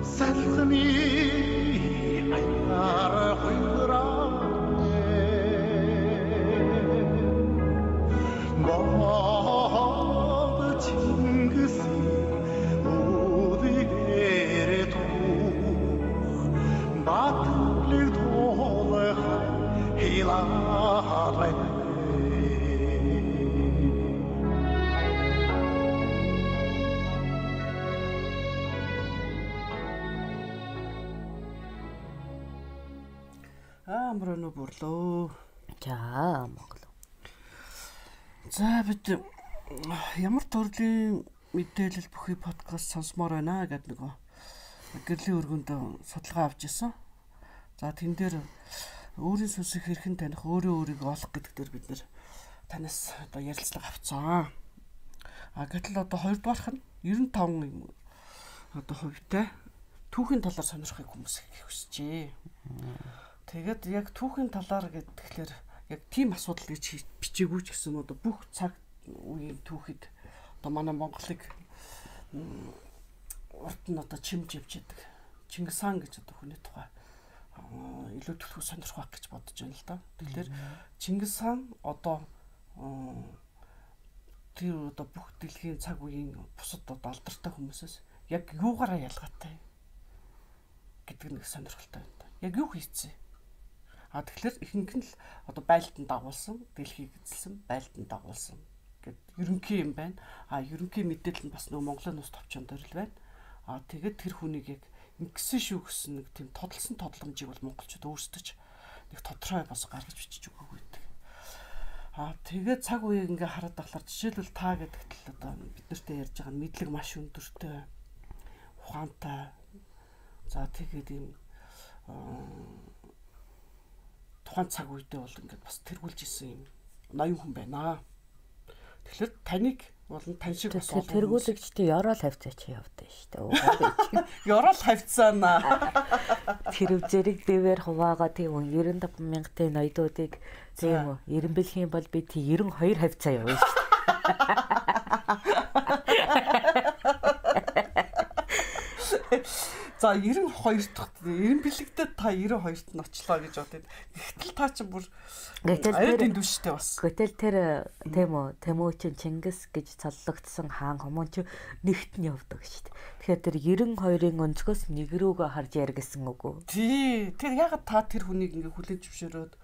Салхны аяар хуйраане Бод Чингисийн үдгээр тух Батлыг туулах хилаарай Амрано бурлоо. За Монгол. За бид ямар төрлийн мэдээлэл бүхий подкаст сонсомоор байна гэдэг нөгөө гэрлийн өргөнд судалгаа авч ирсэн. За тэн дээр өөрийн сүнсийг хэрхэн таних, өөрийгөө олох гэдэг дээр бид нэр танаас одоо ярилцлага авцсан. Гэтэл одоо хоёрдугаарх нь 95 одоо хувьтай түүхийн талаар сонирхохыг хүмүүс их хүсжээ. Тэгээд яг түүхийн талаар гэхэлэр яг тийм асуудал гэж бичээгүй ч гэсэн одоо бүх цаг үеийн түүхэд одоо манай Монголыг урд нь одоо чимж явж яадаг. Чингис хаан гэж одоо хүний тухай илүү төлөв сонирхох гэж бодож байна л да. Тэгэхээр Чингис хаан одоо тэр одоо бүх дэлхийн цаг үеийн бусад одоо алдартай хүмүүсээс яг юугаараа ялгаатай гэдэг нэг сонирхолтой байна. Яг юу хийцээ? Тэгэхээр ихэнх нь л одоо байлдан дагуулсан, дэлхийг эзэлсэн, байлдан дагуулсан гэд ерөнхий юм байна. Ерөнхий мэдээлэл нь бас нөгөө Монголын ус товчонд дээр л байна. Тэгээд тэр хүнийг яг ингэсэн шүү гэсэн нэг тийм тодолсон тодламжийг бол монголчууд өөрсдөж нэг тодорхой бас гаргаж бичиж өгөөгүй гэдэг. Тэгээд цаг үеийг ингээ хараад тахлаар жишээлбэл та гэдэгт л одоо бид нартай ярьж байгаа мэдлэг маш өндөртэй, ухаантай. За тэгээд ийм тухайн цаг үедээ бол ингээд бас тэргүүлж исэн юм ноён хүн байна. Тэгэхээр таныг болон тань шиг бас тэргүүлэгчтэй ёроол хавцаач явдаа шүү дээ. Ёроол хавцаана. Тэр зэрэг бивэр хуваагаа тийм 95 мянган ноёдуудыг тийм үү эренбэлхийн бол би тийм 92 хавцаа явна шүү дээ. За 92 дахь эренбэлэгдээ та 92-т нь очлоо гэж бодод. Гэтэл та ч бүр аюулын дүштэй бас. Гэтэл тэр тийм үү Тэмүүчин Чингис гэж цоллогдсон хаан хүмүүс ч нэгт нь явдаг шүү дээ. Тэгэхээр тэр 92-ын өнцгөөс нэг рүүгээ харж яргэсэн үгүй. Тий. Тэр ягаад та тэр хүнийг ингээ хүлээж зөвшөөрөөд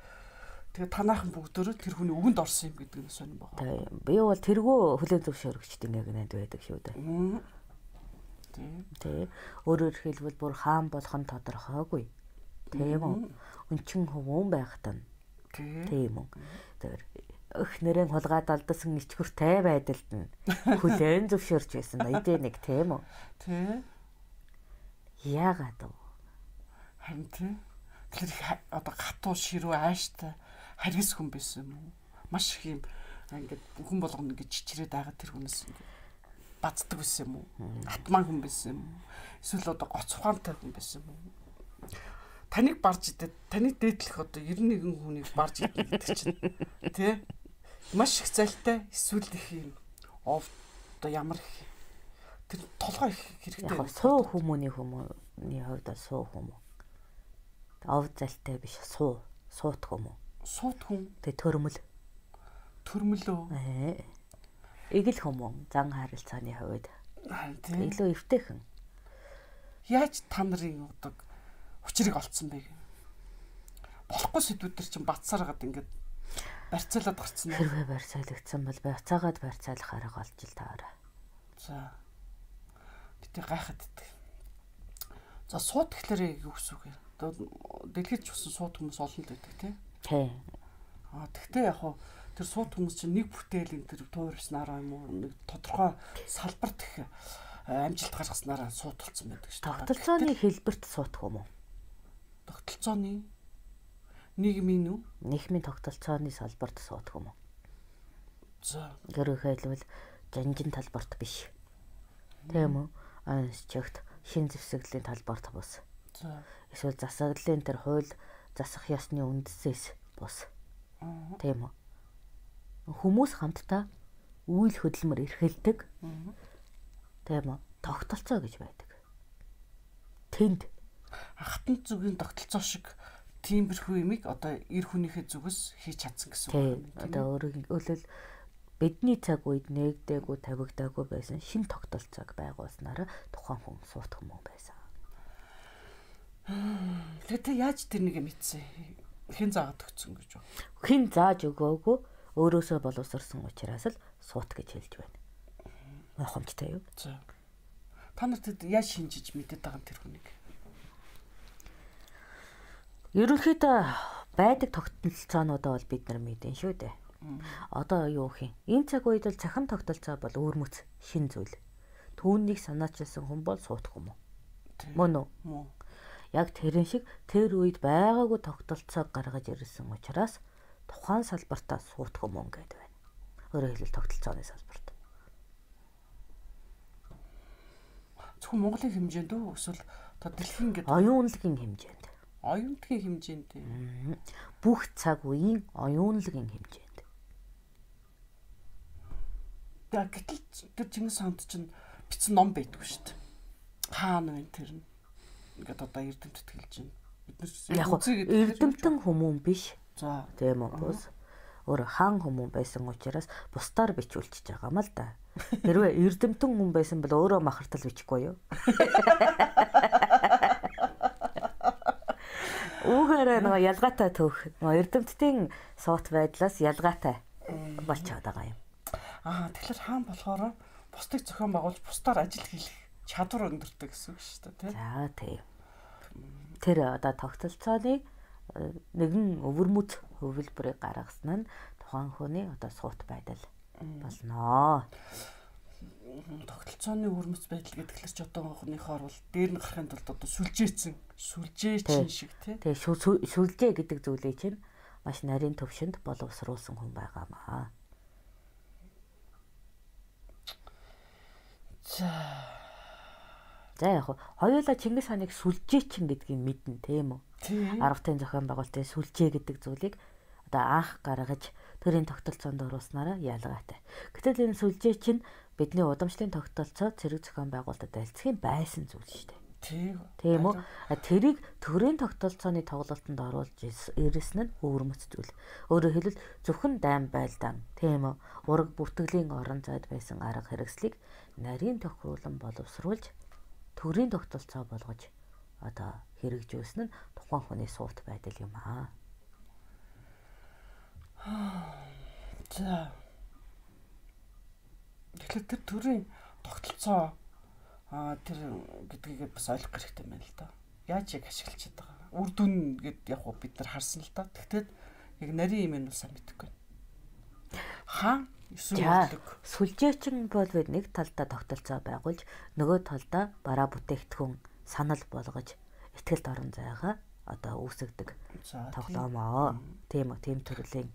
тэгээ танаахан бүгдөө тэр хүний өгөнд орсон юм гэдэг нь сонирн байгаа. Би бол тэргөө хүлээж зөвшөөрөгчд ингээ гэнэд байдаг шүү дээ. Тэ өөрөөр хэлбэл бүр хаан болох нь тодорхойгүй. Тийм үү? Өнчин хөвөн байхад нь. Тийм үү? Тэр өх нэрэн хулгаад алдсан ичгүртэй байдалд нь хүлээн зөвшөөрч байсан эдээ нэг тийм үү? Тэ. Яагаад вэ? Харин тэ. Тэр одоо хатуу ширүү ааштай харгис хүн байсан юм уу? Маш их юм ингээд хүн болгоно гэж чичрээд байгаа тэр хүнээс бацдаг байсан юм уу? Атман хүн байсан юм уу? Эсвэл одоо гоц ухаантай хүн байсан юм уу? Таныг барж идэх, таныг дээдлэх одоо 91 хүнийг барж идэх гэдэг чинь тий? Маш их зайлтай эсвэл их юм. Одоо ямар их тэр толгой их хэрэгтэй. Яг суу хүмүүний хувьд суу хүмүүс. Ов зайлтай биш суут хүмүүс. Суут хүн. Тэг төрмөл. Төрмөлөө. Игэл хүмүүс зан харилцааны хувьд илүү эвтэйхэн. Яаж та нарын одоо хүчрэг олцсон бэ? Болохгүй сэдвүүд төр чинь бацсаар гад ингээд барьцаалаад гарцсан. Хэрвээ барьцаалагдсан бол байцаагаад барьцаалах арга олж ил таараа. За. Битээ гайхаад идэх. За суут гэхлээр юу гэсэн үг вэ? Дэлхийд ч усан суут хүмүүс олон л байдаг тий. Тэгтээ яг хуу тэр суут хүмүүс чинь нэг бүтээлийн тэр туурснараа юм уу нэг тодорхой салбарт их амжилт гаргаснараа сууталцсан байдаг шүү дээ. Тогтолцооны хэлбэрт суутах юм уу? Тогтолцооны нийгмийн үү? Нийгмийн тогтолцооны салбарт суутах юм уу? За. Гэрээ хэлбэл жанжин талбарт биш. Тийм үү? Чигт шин зэвсэглийн талбарт бус. За. Эсвэл засаглалын тэр хууль засах ёсны үндэсээс бус. Тийм үү? Хүмүүс хамтдаа үйл хөдөлмөр эрхэлдэг. Тийм үү? тогтолцоо гэж байдаг. Тэнд хатан зүгийн тогтолцоо шиг тиймэрхүү юмыг одоо эр хүнийхээ зүгээс хийж чадсан гэсэн үг. Одоо өөрөөр хэлбэл бидний цаг үед нээгдээгүй тавигдаагүй байсан шин тогтолцоог байгуулснараа тухайн хүн суутах юм байсан. Тэгээд яаж тэрнийг мэдсэн? Хэн заагаад өгсөн гэж байна? Хэн зааж өгөөгүй өөрөөсөө боловсрсон учраас л суут гэж хэлж байна. Гайхамшигтай юу? За. Та нарт яаж шинжиж мэдээд байгаа тэр хүнийг? Ерөнхийдөө байдаг тогтолцоонуудаа бол бид нар мэдэн шүү дээ. Одоо юу гэх юм? Энэ цаг үед л цахим тогтолцоо бол өөрмөц шин зүйл. Түүнийг санаачилсан хүн бол суутах юм уу? Мөн үү? Яг тэрэн шиг тэр үед байгаагүй тогтолцоог гаргаж ирсэн учраас тухайн салбартаа суутах юм гээд байна. Өөрөөр хэлбэл тогтолцооны салбарт. Зөвхөн Монголын хэмжээнд үү эсвэл одоо дэлхийн гэдэг оюунлагын хэмжээнд. Оюунлагын хэмжээнд. Бүх цаг үеийн оюунлагын хэмжээнд. Гэтэл тэр Чингис хаанд чинь бичсэн ном байдгүй шүү дээ. Хаана вэ тэр нь? Ингээд одоо эрдэмтэд хэлж байна. Бид нар эрдэмтэн хүмүүн биш. За тийм үү? Өөр хаан хүмүүн байсан учраас бусдаар бичүүлчихэж байгаа юм л да. Хэрвээ эрдэмтэн хүн байсан бол өөрөө махартал бичихгүй юу? Үүгээр нэг ялгаатай төөх. Эрдэмтдийн суут байдлаас ялгаатай болчиход байгаа юм. Тэгэхээр хаан болохоор бусдыг зохион байгуулж бусдаар ажил хийх чадвар өндөртэй гэсэн үг шүү дээ, тийм. За тийм. Тэр одоо тогтолцооны нэгэн өвөрмөц хөвлбөрийг гаргасан нь тухайн хүний одоо суут байдал болно. Тогтолцооны өвөрмөц байдал гэдгээр ч одоо хонхныхоор бол дээр нь гарахын тулд одоо сүлжээчин шиг тийм. Тэгээ сүлжээ гэдэг зүйлээ чинь маш нарийн төвшөнд боловсруулсан хүн байгаамаа. За яг хоёулаа Чингис хааныг сүлжээчин гэдгийг мэднэ тийм үү? Арга тань зохион байгуулалтын сүлжээ гэдэг зүйлийг одоо анх гаргаж төрийн тогтолцоонд оруулснараа ялгаатай. Гэтэл энэ сүлжээ чинь бидний удамшлын тогтолцоо цэрэг зохион байгуулалтад альцхийн байсан зүйл шүү дээ. Тийм үү? Тэрийг төрийн тогтолцооны тоглолтод оруулж ирсэн нь өвөрмөц зүйл. Өөрөөр хэлбэл зөвхөн дайм байлдаан, тийм үү? Ураг бүртгэлийн орон зайд байсан арга хэрэгслийг нарийн тохируулан боловсруулж төрийн тогтолцоо болгож одоо хэрэгжүүлсэн нь тухайн хүний суут байдал юм аа. За. Тэгэхээр тэр төрийн тогтолцоо тэр гэдгийг бас ойлгох хэрэгтэй байна л да. Яаж яг ашиглаж байгаа. Үр дүн гэд яг бид нар харсан л да. Тэгтээ яг нарийн юм нь сайн мэдэхгүй. Хаан сүлжээчин бол бид нэг талдаа тогтолцоо байгуулж нөгөө талдаа бараа бүтээгдэхүүн санал болгож ихтгэл орон зайгаа одоо үүсгдэг тоглоомоо. Тийм үү, тийм төрлийн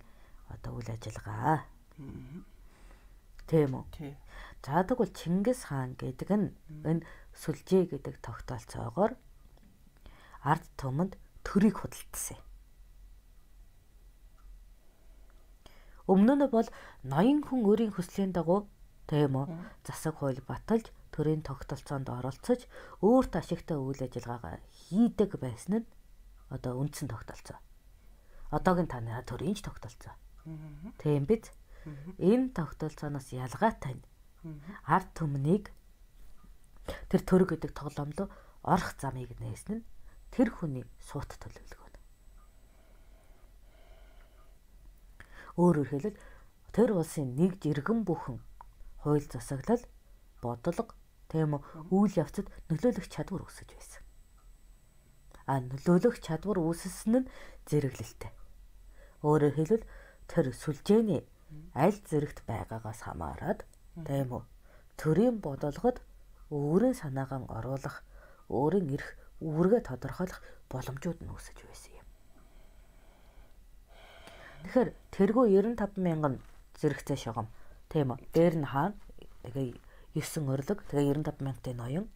одоо үйл ажиллагаа. Тийм үү. За тэгвэл Чингис хаан гэдэг нь энэ сүлжээ гэдэг тогтолцоогоор ард түмэнд төрийг худалдсан. Өмнө нь бол ноён хүн өөрийн хүслийн дагуу тийм үү засаг хууль баталж төрийн тогтолцоонд оролцож өөрт ашигтай үйл ажиллагаагаа хийдэг байсан нь одоо үндсэн тогтолцоо. Одоогийн таны төрийн тогтолцоо. Тийм биз? Энэ тогтолцооноос ялгаатай нь ард түмнийг тэр төрөг гэдэг тоглоомлоо орох замыг нээсэн нь тэр хүний суут төлөвлөгөө. Өөрөөр хэлбэл тэр улсын нэг жиргэн бүхэн хууль засаглал, бодлого, тийм үйл явцад нөлөөлөх чадвар үүсэж байсан. Нөлөөлөх чадвар үүссэн нь зэрэглэлтэй. Өөрөөр хэлбэл тэр сүлжээний аль зэрэгт байгаагаас хамаарат тийм үү төрийн бодлогод өөрийн санаагаа оруулах, өөрийн эрх үүргээ тодорхойлох боломжууд нь үүсэж байсан юм. Тэгэхээр тэргүй 95,000 зэрэгцээ шугам тийм үү. Дээр нь хаана тэгээ 9 орлог тэгээ 95,000-тай ноён.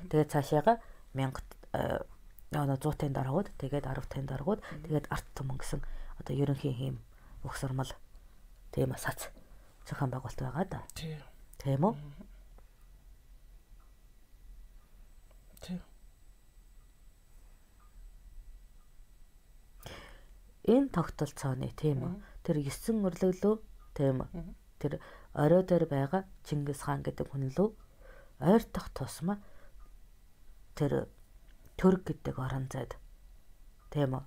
Тэгээ цаашаага 100-ын даргууд тэгээд 10-ын даргууд тэгээд арт түмэн гэсэн одоо ерөнхий хийм угсармал тийм сац зохион байгуулалт байгаа да. Тийм үү? энэ тогтолцооны тийм үү тэр 9 өрлөглөө тийм үү тэр орой дээр байгаа Чингис хаан гэдэг хүн лөө ойртох тусмаа тэр Түрк гэдэг орон зайд тийм үү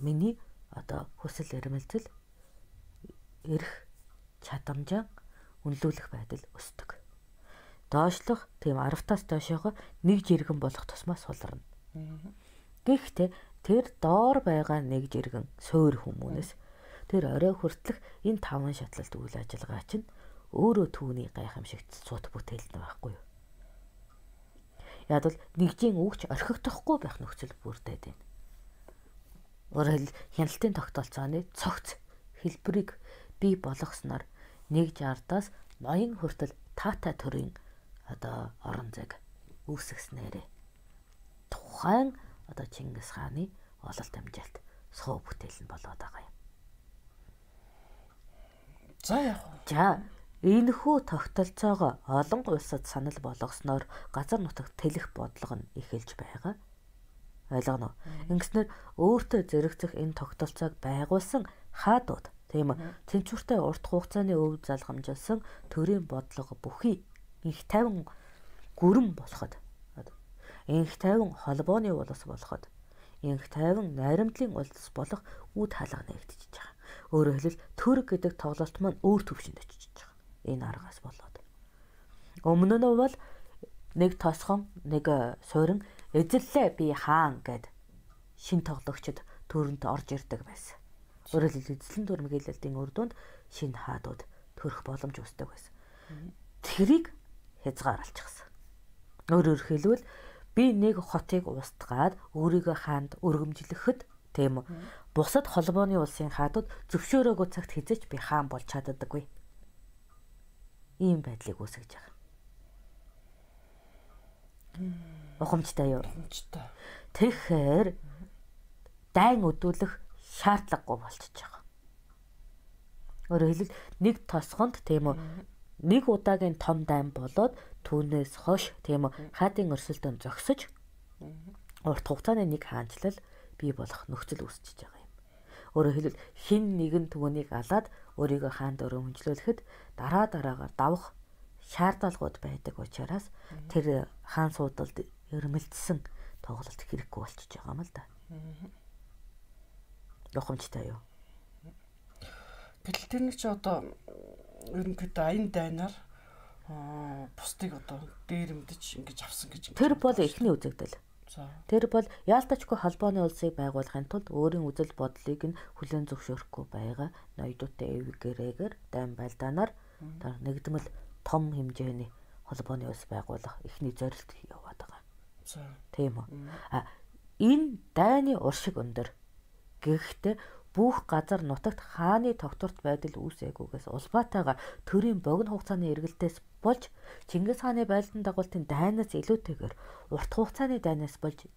миний одоо хүсэл эрмэлзэл эрх чадамжаа үнэлүүлэх байдал өсдөг. Доошлох тийм 10-аас доошоогоо нэг жиргэн болох тусмаа сулрна. Гэхдээ тэр доор байгаа нэг жиргэн суур хүмүүнээс тэр орой хүртэлх энэ 5 шатлалт үйл ажиллагаа чинь өөрөө түүний гайхамшигт цут бүтээлд нь байхгүй юу? Яг л нэгжийн үгч орхигдохгүй байх нөхцөл бүрдээд байна. Өөрөөр хяналтын тогтолцооны цогц хэлбэрийг бий болгосноор 160-аас ноён хүртэл таатай төрийн одоо орон зайг үүсгэснээрээ тухайн одоо Чингис хааны ололт амжилт суу бүтээл нь болоод байгаа юм. За яг. За энэхүү тогтолцоогоо олон улсад санал болгосноор газар нутагт тэлэх бодлого нь эхэлж байгаа. Ойлгоно. Ингэснээр өөртөө зэрэгцэх энэ тогтолцоог байгуулсан хаадууд тийм үү тэнцвэртэй урт хугацааны өв залгамжилсан төрийн бодлого бүхий их тайван гүрэн болоход инх тайван холбооны улс болоход инх тайван найрамдлын улс болох үд хаалга нэгдэж байгаа. Өөрөөр хэлбэл Түрк гэдэг тоглолт маань өөр төвшөнд очиж байгаа. Энэ аргаас болоод. Өмнө нь бол нэг тосхон нэг суурин эзэллээ би хаан гэд шин тоглогчд төрөнд орж ирдэг байсан. Өөрөөр хэлбэл эзлэн дүрм хэлэлтийн үр дүнд шинэ хаадууд төрөх боломж үүсдэг байсан. Тэрийг хязгаарлалчихсан. Өөрөөр хэлбэл би нэг хотыг устгаад өөрийгөө хаанд өргөмжлөхөд тийм үү. Бусад холбооны улсын хаадууд зөвшөөрөөгүй цагт хизээч би хаан болж чаддаггүй. Ийм байдлыг үүсгэж байгаа. Ухамжтай юу? Ухамжтай. Тэгэхээр дайн өдүүлэх шаардлагагүй болчихж байгаа. Өөрөөр хэлбэл нэг тосгонд тийм үү нэг удаагийн том дайн болоод түүнээс хойш тийм үү хаадын өрсөлдөөн зогсож урт хугацааны нэг хаанчлал бий болох нөхцөл үүсчихэж байгаа юм. Өөрөөр хэлбэл хин нэгэн түүнийг алаад өөрийгөө хаанд өргөмжлүүлэхэд дараагаар давах шаардлагууд байдаг учраас тэр хаан суудалд өрмөлдсөн тоглолт хэрэггүй болчихж байгаа юм л да. Ухамжтай юу? Гэтэл тэр нэг чи одоо ерөнхийдөө аян дайнаар бусдыг одоо дээрэмдэж ингэж авсан гэж. Тэр бол эхний үзэгдэл. Тэр бол яалтачгүй холбооны улсыг байгуулахын тулд өөрийн үзэл бодлыг нь хүлээн зөвшөөрөхгүй байгаа ноёдуудтай эвгэрээгээр дайн байлдаанаар нэгдмэл том хэмжээний холбооны улс байгуулах эхний зорилт яваад байгаа. Тийм үү? Энэ дайны уршиг өндөр. Гэхдээ бүх газар нутагт хааны тогтворт байдал үүсээгүйгээс улбаатайгаар төрийн богино хугацааны эргэлтээс болж Чингис хааны байлдан дагуултын дайнаас илүүтэйгээр урт хугацааны дайнаас болж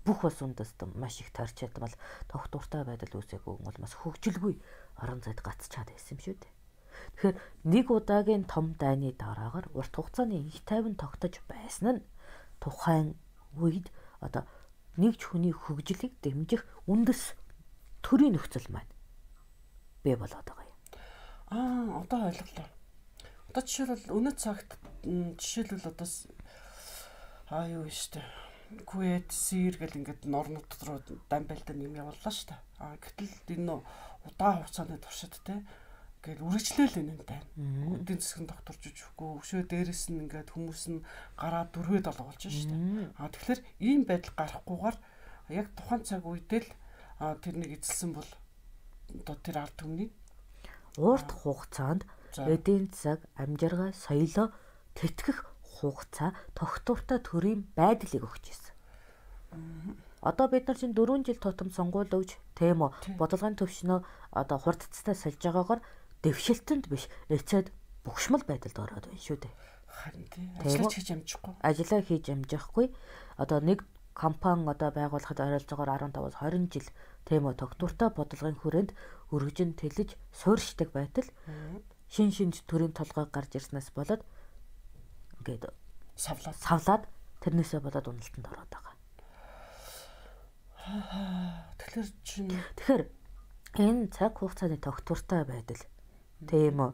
бүх улс үндэст маш их тарч ядмал тогтвортой байдал үүсээгүй бол бас хөгжилгүй орон зайд гацчаад байсан юм шүү дээ. Тэгэхээр нэг удаагийн том дайны дараагаар урт хугацааны их тайван тогтож байсан нь тухайн үед одоо нэг хүний хөгжлийг дэмжих үндэс төрийн нөхцөл маань бий болоод байгаа юм. Одоо ойлголоо. Одоо жишээлбэл өнөө цагт жишээлбэл одоо юу штэ. Куэт, Сир гэл ингээд норнууд руу дан байлдан юм явууллаа штэ. Гэтэл энэ удаан хугацааны туршид те ингээд үргэлжлээл энэ тань. Эдийн засгийн докторч үжихгүй өшөө дээрээс нь ингээд хүмүүс нь гараа дөрвөөд олгуулж штэ. Тэгэхээр ийм байдал гарахгүйгээр яг тухайн цаг үедээ л тэрнийг эзэлсэн бол одоо тэр ард түмний урт хугацаанд эдийн засаг амжиргаа соёлоо тэтгэх хугацаа тогтвортой төрийн байдлыг өгч ирсэн. Одоо бид нар чинь 4 жил тутам сонгуул өгж тийм үү бодлогын төвшнөө одоо хурдцтай сольж байгаагаар дэвшилтэнд биш эцэд бухшмал байдалд ороод байна шүү дээ. Харин тийм ажиллаж хийж амжихгүй. Ажиллаа хийж амжихгүй. Одоо нэг компани одоо байгуулахад ойролцоогоор 15-аас 20 жил тийм үү тогтвортой бодлогын хүрээнд өргөжин тэлж суурьшдаг байтал шин төрийн толгой гарч ирснээс болоод ингээд савлаад тэрнээсээ болоод уналтанд ороод байгаа. Тэгэхээр энэ цаг хугацааны тогтвортой байдал тийм үү?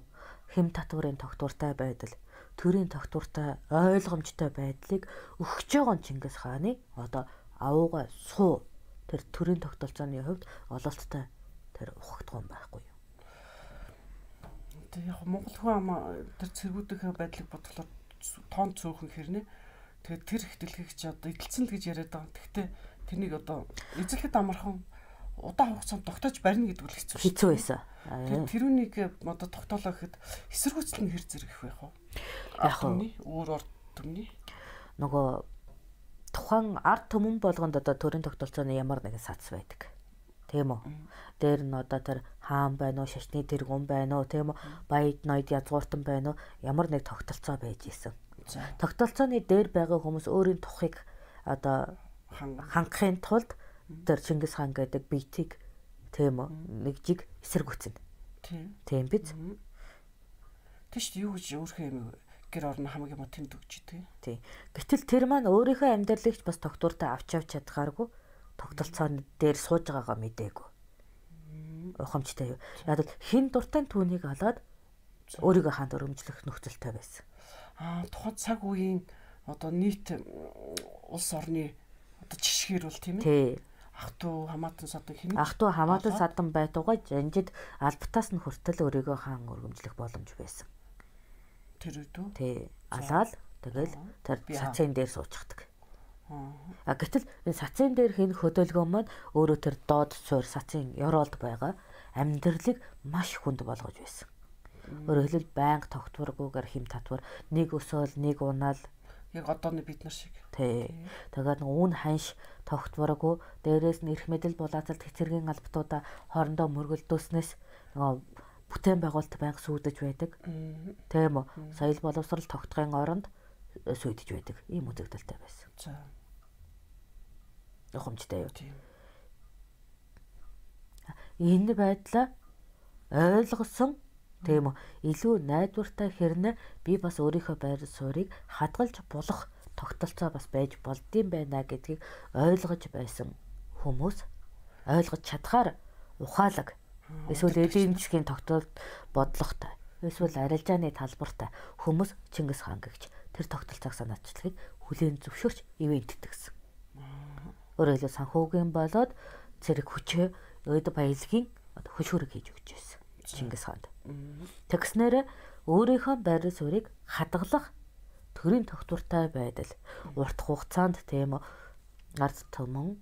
Хэм татварын тогтвортой байдал, төрийн тогтвортой ойлгомжтой байдлыг өгч байгаа нь Чингис хааны одоо авууга суу тэр төрийн тогтолцооны хувьд ололттой тэр ухагдсан байхгүй юу? Тэг яг Монгол хүн ама тэр цэргүүдийн байдлыг бодлоо тоон цөөхөн хэрнэ. Тэгээд тэр их дэлхийг чи одоо эдэлцэн л гэж яриад байгаа. Гэхдээ тэрнийг одоо эзлэхэд амархан удаан хугацаанд тогтоож барина гэдэг үл хэцүү байсан. Тэрүүнийг одоо тогтоолоо гэхэд эсэргүүцэл нь хэр зэрэг их байх вэ? Яг нь өөр ард түмний нөгөө тухайн ард түмэн болгонд одоо төрийн тогтолцооны ямар нэгэн сац байдаг. Тийм үү? Дээр нь одоо тэр хаан байна уу, шашны тэргүүн байна уу, тийм үү? Баяд ноёд язгууртан байна уу? Ямар нэг тогтолцоо байж исэн. Тогтолцооны дээр байгаа хүмүүс өөрийн тухыг одоо хангахын тулд тэр Чингис хаан гэдэг биетийг тийм үү? Нэг жиг эсэргүүцэн. Тийм биз? Тэш юу гэж өөрхөө юм гэр орно хамгийн мод тэмд өгч тий. Тий. Гэтэл тэр маань өөрийнхөө амьдралыг бас тогтвортой авч чадхааргүй тогтолцооны дээр сууж байгаагаа мэдээгүй. Ухамжтай юу? Яг л хин дуртай түүнийг олоод өөрийгөө хаанд өргөмжлөх нөхцөлтэй байсан. Тухайн цаг үеийн одоо нийт улс орны одоо жишгээр бол тийм ээ. Тий. Ах トゥ хамаатан садан хин. Ах トゥ хамаатан садан байтугай жанжид албатаас нь хүртэл өөрийгөө хаан өргөмжлөх боломж байсан. Тэр үдөө. Тий. Алаал тэгэл тэр сацын дээр суучихдаг. Гэтэл энэ сацын дээр хин хөдөлгөөн маань өөрөө тэр доод суур сацын ёроолд байгаа амьдралыг маш хүнд болгож байсан. Өөрөөр хэлбэл байнга тогтворгүйгээр хэм татвар нэг өсөөл нэг унаал яг одооны бид нар шиг. Тий. Тэгээд үн ханш тогтворгүй дээрээс нь эрх мэдэл булаацалт хэцэргийн албатуудаа хоорондоо мөргөлдөөснөөс нөгөө бүтээн байгуулалт байнга сүйдэж байдаг. Тийм үү? Соёл боловсрал тогтохын оронд сүйдэж байдаг. Ийм үзэгдэлтэй байсан. За. Ухамжтай юу? Энэ байдлаа ойлгосон тийм үү? Илүү найдвартай хэрнээ би бас өөрийнхөө байр суурийг хадгалж болох тогтолцоо бас байж болдсон байна гэдгийг ойлгож байсан хүмүүс ойлгож чадхаар ухаалаг эсвэл эдийн засгийн тогтолцоод бодлоготой эсвэл арилжааны талбартай хүмүүс Чингис хаан гэгч тэр тогтолцоог санаачлагыг хүлээн зөвшөөрч ивент итгэсэн. Өөрөөр хэлбэл санхүүгийн болоод зэрэг хүчээ өд баялагын хөшүүрэг хийж өгч байсан Чингис хаанд. Тэгснээр өөрийнхөө байр суурийг хадгалах төрийн тогтвортой байдал урт хугацаанд тийм ард түмэн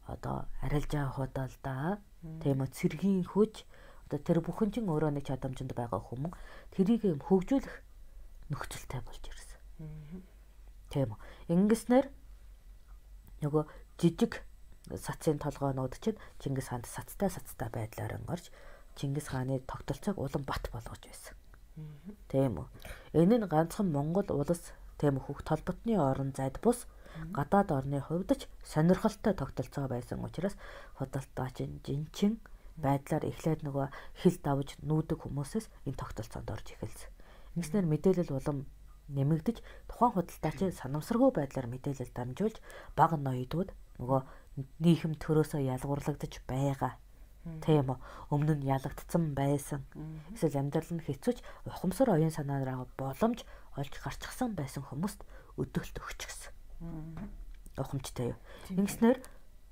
одоо арилжаа худалдаа тийм цэргийн хүч одоо тэр бүхэн чинь өөрөө нэг чадамжинд байгаа хүмүүс тэрийг юм хөгжүүлэх нөхцөлтэй болж ирсэн. Тийм үү. Ингэснээр нөгөө жижиг сацын толгоонууд чинь Чингис хаанд сацтай байдлаар орж Чингис хааны тогтолцоог улам бат болгож байсан. Тийм үү. Энэ нь ганцхан Монгол улс тийм хөх толботны орон зайд бус гадаад орны хувьд ч сонирхолтой тогтолцоо байсан учраас худалдаач жинчин байдлаар эхлээд нөгөө хил давж нүүдэг хүмүүсээс энэ тогтолцоонд орж эхэлсэн. Ингэснээр мэдээлэл улам нэмэгдэж тухайн худалдаач санамсаргүй байдлаар мэдээлэл дамжуулж бага ноёдууд нөгөө нийхэм төрөөсөө ялгуурлагдаж байгаа. Тийм үү. Өмнө нь ялагдсан байсан. Эсвэл амьдрал нь хэцүүч ухамсар оюун санаараа боломж олж гарчихсан байсан хүмүүст өдөөлт өгч гисэн. Ухамжтай юу. Ингэснээр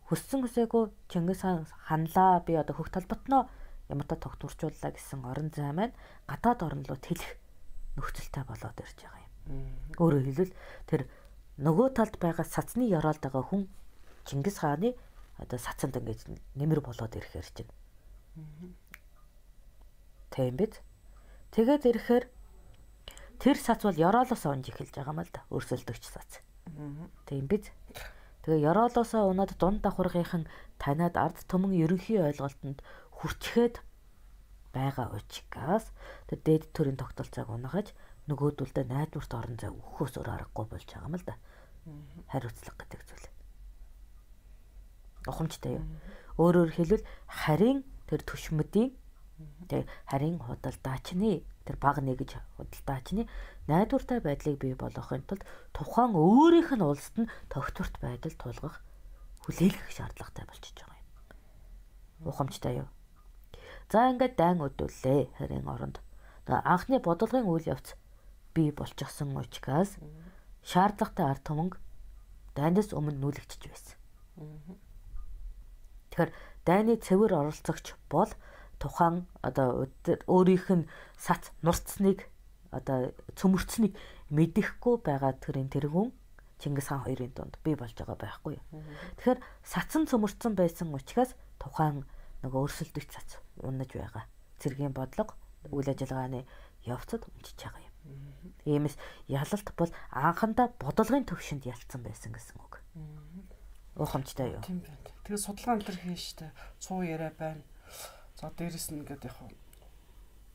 хүссэн хүсээгүй Чингис хаан ханлаа би одоо хөх толботноо ямартай тогтворчууллаа гэсэн орон зай маань гадаад орн руу тэлэх нөхцөлтэй болоод ирж байгаа юм. Өөрөөр хэлбэл тэр нөгөө талд байгаа сацны ёроолд байгаа хүн Чингис хааны одоо сацанд ингэж нэмэр болоод ирэхээр чинь. Тийм биз? Тэгээд ирэхээр тэр сац бол ёроолоос унж эхэлж байгаа юм л да. Өрсөлдөгч сац. Тийм биз? Тэгээ ёроолоосоо унаад дунд давхаргийнхан таниад ард түмэн ерөнхий ойлголтод хүрчгээд байгаа учраас тэр дээд төрийн тогтолцоог унгаж нөгөөдөлдөө найдварт орон зай өгөхөөс өөр аргагүй болж байгаа юм л да. Хариуцлага гэдэг зүйл. Ухамжтай юу. Өөрөөр хэлбэл харийн тэр төшмөдийн тэр харийн худалдаачны тэр баг нэгж худалдаачны найдвартай байдлыг бий болгохын тулд тухайн өөрийнх нь улсад нь тогтворт байдал тулгах хүлээлгэх шаардлагатай болчихж байгаа юм. Ухамжтай юу? За ингээд дайн өдөллээ харин оронд. Анхны бодлогын үйл явц бий болчихсон учраас шаардлагатай ард түмэнг дайнаас өмнө нүүлэгдэж байсан. Тэгэхээр дайны цэвэр оролцогч бол тухайн одоо өөрийнх нь сац нурцсныг одоо цөмөрцнийг мэдэхгүй байгаа тэргүүн Чингис хаан хоёрын дунд бий болж байгаа байхгүй юу. Тэгэхээр сацсан цөмөрцөн байсан учраас тухайн нөгөө өрсөлдөгч цац унаж байгаа. Цэргийн бодлого үйл ажиллагааны явцад унжиж байгаа юм. Иймээс ялалт бол анхандаа бодлогын төвшөнд ялцсан байсан гэсэн үг. Ухамжтай юу? Тийм байна. Тэгээ судалгаан дээр хийн штэ. Цуу яриа байна. За дээрэс нь ингээд яг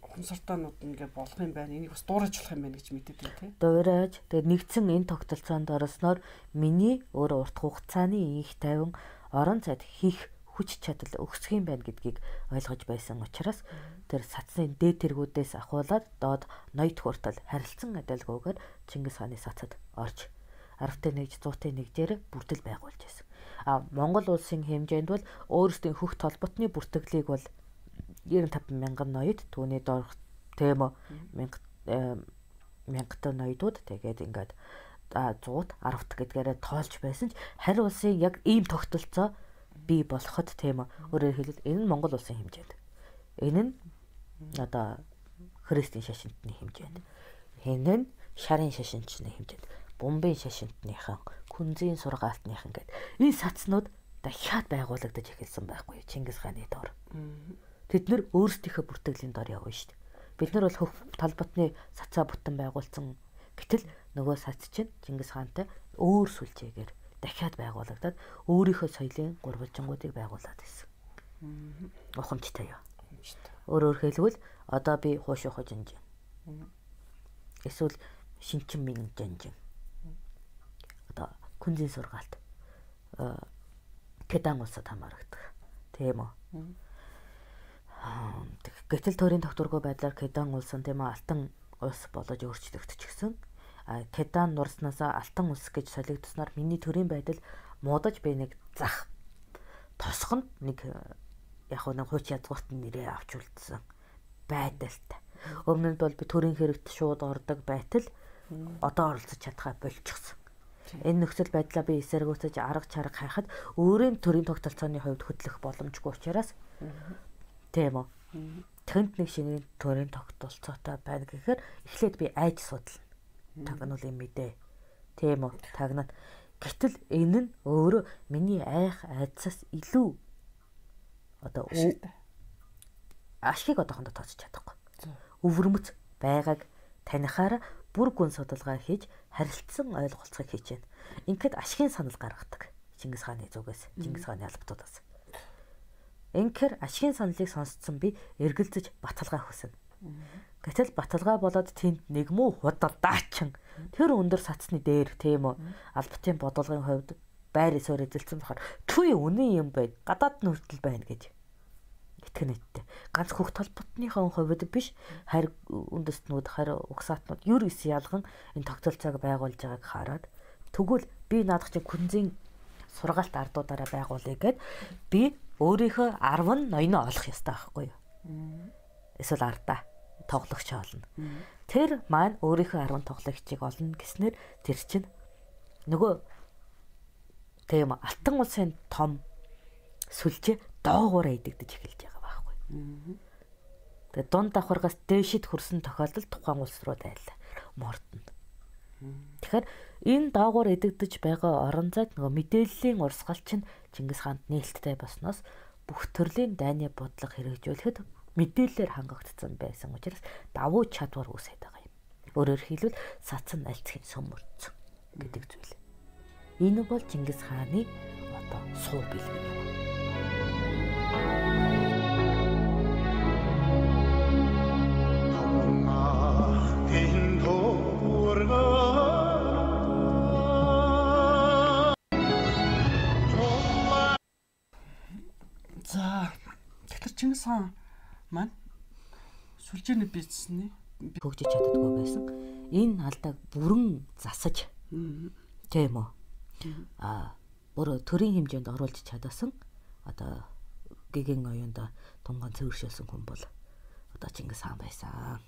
хумсартаанууд ингээд болох юм байна. Энийг бас дуурайж болох юм байна гэж мэдээд байна тий. Дуурайж. Тэгээд нэгдсэн энэ тогтолцоонд оросноор миний өөр урт хугацааны их тайван орон зайд хийх хүч чадал өгсөх юм байна гэдгийг ойлгож байсан учраас тэр сацны дээд тэргүүдээс ахуулаад доод ноёд хүртэл харилцан адилгүйгээр Чингис хааны сацад орж 10-т 1, 100-т 1-ээр бүрдэл байгуулж байсан. Монгол улсын хэмжээнд бол өөрсдийн хөх толботны бүртгэлийг бол 95,000 ноёд түүний доорх тэмо 1000 ноёдууд тэгээд ингээд 100-т 10-т гэдгээрээ тоолж байсан ч харь улсын яг ийм тогтолцоо бий болоход тэмо өөрөөр хэлбэл энэ нь Монгол улсын хэмжээнд. Энэ нь одоо христийн шашинтны хэмжээнд. Энэ нь шарын шашинчны хэмжээнд. Бомбын шашинтныхан, күнзийн сургаалтныхан гэдэг энэ сацнууд дахиад байгуулагдаж эхэлсэн байхгүй Чингис хааны доор. Тэд нэр өөрсдийнхөө бүртгэлийн доор явна шүү дээ. Бид нар бол хөх талбатны сацаа бүтэн байгуулсан. Гэтэл нөгөө сац чинь Чингис хаантай өөр сүлжээгээр дахиад байгуулагдаад өөрийнхөө соёлын гурвалжингуудыг байгуулад байсан. Ухамжтай юу? Өөрөөр хэлбэл одоо би хуушуухо жанжин. Эсвэл шинчин минь жанжин. Одоо күнзийн сургаалт Кедан улсад хамаардаг. Тийм үү? Гэтэл төрийн тогтворгүй байдлаар Кедан улс нь тийм алтан улс болж өөрчлөгдчихсөн. Кедан нурснаас алтан улс гэж солигдсноор миний төрийн байдал муудаж би нэг зах тосгонд нэг яг нэг хууч язгуурт нэрээ авч үлдсэн байдалтай. Өмнө нь бол би төрийн хэрэгт шууд ордог байтал одоо оролцож чадхаа болчихсон. Энэ нөхцөл байдлаа би эсэргүүцэж арга чарга хайхад өөрийн төрийн тогтолцооны хувьд хөдлөх боломжгүй учраас тийм үү. Тэнд нэг шинэ төрийн тогтолцоотой байна гэхээр эхлээд би айж судална. Тагнуулын мэдээ. Тийм үү. Тагнаад гэтэл энэ нь өөрөө миний айх айдсаас илүү одоо ашиг одоохондоо тооцож чадахгүй. Өвөрмөц байгааг танихаараа бүр гүн судалгаа хийж харилцсан ойлголцохыг хийж байна. Ингээд ашигын санал гаргадаг. Чингис хааны зүгээс, Чингис хааны албатуудаас. Ингээд ашигын саналыг сонсцсон би эргэлзэж баталгаа хүснэ. Гэтэл баталгаа болоод тэнд нэг муу худалдаачин тэр өндөр сацны дээр тийм үү албатын бодлогын хувьд байр ёсоор эзэлсэн болохоор түй үнэн юм байна. Гадаад нь хүртэл байна гэж итгэнэдтэй. Ганц хөх толботныхон хувьд биш харь үндэстнүүд, харь угсаатнууд юр ис ялган энэ тогтолцоог байгуулж байгааг хараад тэгвэл би наадах чинь күнзийн сургаалт ардуудаараа байгуулъя гэд би өөрийнхөө 10 ноёноо олох ёстой байхгүй юу? Эсвэл ардаа тоглогч олно. Тэр маань өөрийнхөө 10 тоглогчийг олно гэснээр тэр чинь нөгөө тийм алтан улсын том сүлжээ доогуур идэгдэж эхэлж байгаа байхгүй. Тэгээ дунд давхаргаас дээшид хүрсэн тохиолдолд тухайн улс руу дайлаа. Мордно. Тэгэхээр энэ доогуур идэгдэж байгаа орон зайд нөгөө мэдээллийн урсгалч нь Чингис хаанд нээлттэй болсноос бүх төрлийн дайны бодлого хэрэгжүүлэхэд мэдээлэлээр хангагдсан байсан учраас давуу чадвар үүсээд байгаа юм. Өөрөөр хэлбэл сацсан альцхийн сөмөрцөн гэдэг зүйл. Энэ бол Чингис хааны одоо суур бэлгэн юм. За тэгэхээр Чингис хаан маань сүлжээний бизнесний хөгжиж чаддаггүй байсан. Энэ алдааг бүрэн засаж тийм үү? өөрөө төрийн хэмжээнд оруулж чадсан одоо гэгийн оюунд тунган цэвэршүүлсэн хүн бол одоо Чингис хаан байсан.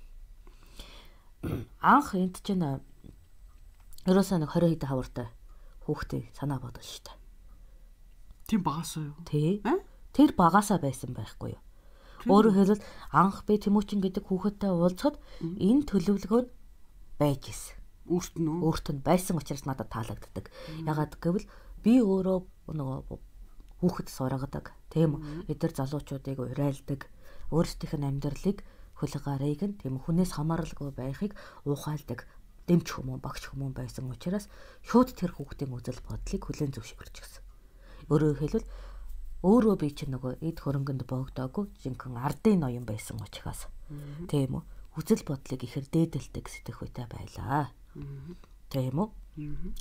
Анх энд чинь ерөөсөө нэг 20 хэдэн хавартай хүүхдээ санаа бодож штэ. Тийм багасаа юу? Тий. Тэр багасаа байсан байхгүй юу? Өөрөөр хэлбэл анх би Тэмүүчин гэдэг хүүхэдтэй уулзахад энэ төлөвлөгөө нь байж исэн. Өөрт нь байсан учраас надад таалагддаг. Ягаад гэвэл би өөрөө нөгөө хүүхэд сургадаг, тийм үү? Эдгээр залуучуудыг урайлдаг, өөрсдийнх нь амьдралыг хулгарыг нь тийм хүнээс хамааралгүй байхыг ухаалдаг дэмч хүмүүн, багч хүмүүн байсан учраас шууд тэр хүүхдийн үзэл бодлыг хүлээн зөвшөөрч гисэн. Өөрөөр хэлбэл өөрөө би чинь нөгөө эд хөрөнгөнд богдоогүй жинхэнэ ардын ноён байсан учраас тийм үү? Үзэл бодлыг ихэр дээдэлдэг сэтгэхүйтэй байлаа. Тийм үү?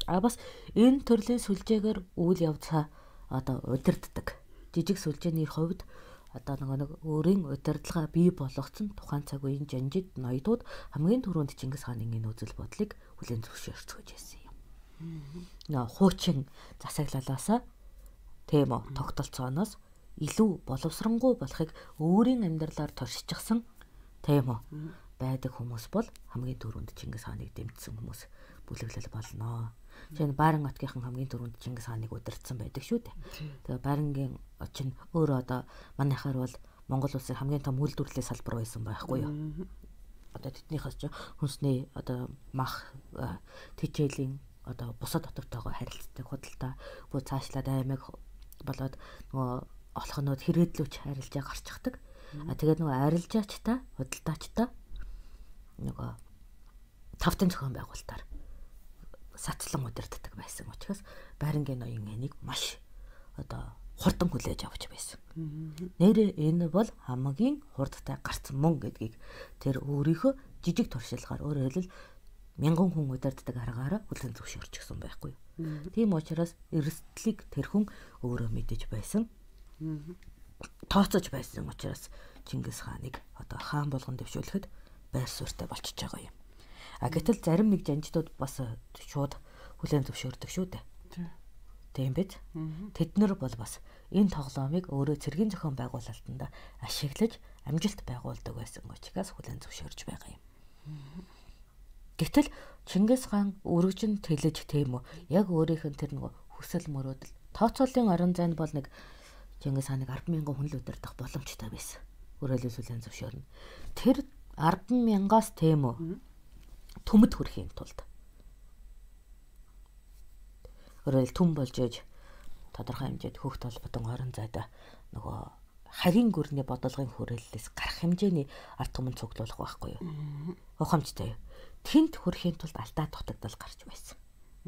Бас энэ төрлийн сүлжээгээр үйл явцаа одоо удирддаг. Жижиг сүлжээний хувьд одоо нэг өөрийн удирдлага бий болгоцсон тухайн цаг үеийн жанжид ноёдууд хамгийн түрүүнд Чингис хааны энэ үзэл бодлыг хүлээн зөвшөөрч байсан юм. Хуучин засаглалаасаа тийм үү тогтолцооноос илүү боловсронгуй болохыг өөрийн амьдралаар туршижсан тийм үү байдаг хүмүүс бол хамгийн түрүүнд Чингис хааныг дэмжсэн хүмүүс бүлэглэл болно. Жишээ нь Байран отгийнхан хамгийн түрүүнд Чингис хааныг удирдсан байдаг шүү дээ. Тэгээ Байрангийн очин өөрөө одоо манайхаар бол Монгол улсын хамгийн том үйлдвэрлэлийн салбар байсан байхгүй юу? Одоо тэднийхээс ч хүнсний одоо мах тэжээлийн одоо бусад дотортойгоо харилцдаг худалдаа бүр цаашлаад аймаг болоод нөгөө олхонууд хэрэглүүч арилжаа гарчихдаг. Тэгээд нөгөө арилжаачтай худалдаачтай нөгөө тавтан зохион байгуулалтаар сацлан удирддаг байсан учраас Байрангийн ноён энийг маш одоо хурдан хүлээж авч байсан. Нэрээ энэ бол хамгийн хурдтай гарсан мөн гэдгийг тэр өөрийнхөө жижиг туршилгаар өөрөөр хэлбэл мянган хүн удирддаг аргаараа хүлээн зөвшөөрчихсөн байхгүй юу. Тийм учраас эрсдлийг тэр хүн өөрөө мэдэж байсан. Тооцож байсан учраас Чингис хааныг одоо хаан болгон дэвшүүлэхэд байр суурьтай болчихж байгаа юм. Гэтэл зарим нэг жанждууд бас шууд хүлээн зөвшөөрдөг шүү дээ. Тийм биз? Тэд нар бол бас энэ тоглоомыг өөрөө цэргийн зохион байгуулалтанд ашиглаж амжилт байгуулдаг байсан учраас хүлээн зөвшөөрж байгаа юм. Гэтэл Чингис хаан өргөжин тэлэж тийм үү? Яг өөрийнх нь тэр нөгөө хүсэл мөрөөдөл тооцоолын орон зайд бол нэг Чингис хааныг 10,000 хүн л удирдах боломжтой байсан. Өөрөөр хүлээн зөвшөөрнө. Тэр 10,000-аас тийм үү? Түмэд хүрэхийн тулд өөрөөр түм болж ээж тодорхой хэмжээд хүүхд толботон орон зайд нөгөө харийн гүрний бодолгын хүрээллээс гарах хэмжээний ард түмэн цуглуулах байхгүй юу? Ухамжтай. Тэнд хүрэхийн тулд алдаа дутагдал гарч байсан.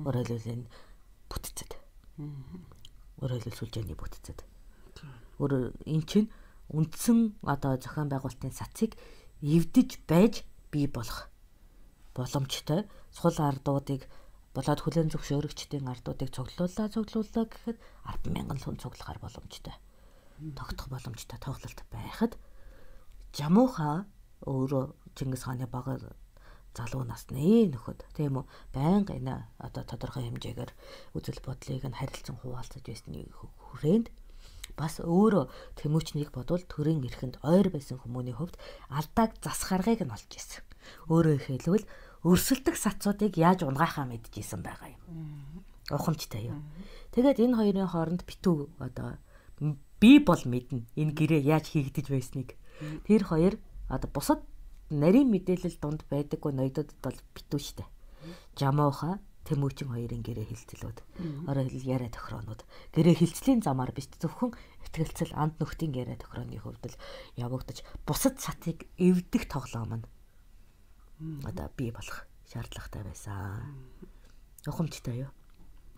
Өөрөөр хэлбэл бүтцэд. Өөрөөр хэлбэл сүлжээний бүтцэд. Энэ чинь үндсэн одоо зохион байгуулалтын сацыг эвдэж байж бий болох боломжтой сул ардуудыг болоод хүлээн зөвшөөрөгчдийн ардуудыг цуглууллаа гэхэд 10,000 хүн цуглахаар боломжтой. Тогтох боломжтой тоглолт байхад Жамуха өөрөө Чингис хааны бага залуу насны нөхөд тийм үү байнга энэ одоо тодорхой хэмжээгээр үзэл бодлыг нь харилцан хуваалцаж байсны хүрээнд бас өөрөө Тэмүүчнийг бодвол төрийн эрхэнд ойр байсан хүмүүний хувьд алдааг засгаргыг нь олж исэн. Өөрөөр хэлбэл өрсөлдөх сацуудыг яаж унгаахаа мэдчихсэн байгаа юм. Ухамжтай юу. Тэгээд энэ хоёрын хооронд битүү одоо би бол мэднэ энэ гэрээ яаж хийгдэж байсныг. Тэр хоёр одоо бусад нарийн мэдээлэл донд байдаггүй ноёдод бол битүү штэ. Жамууха Тэмүүчин хоёрын гэрээ хилцэлүүд орой хэл яриа тохироонууд гэрээ хилцлийн замаар биш зөвхөн ихтгэлцэл анд нөхдийн яриа тохирооны хувьд л явагдаж бусад сатыг эвдэх тоглоом нь одоо бий болох шаардлагатай байсан. Ухамжтай юу?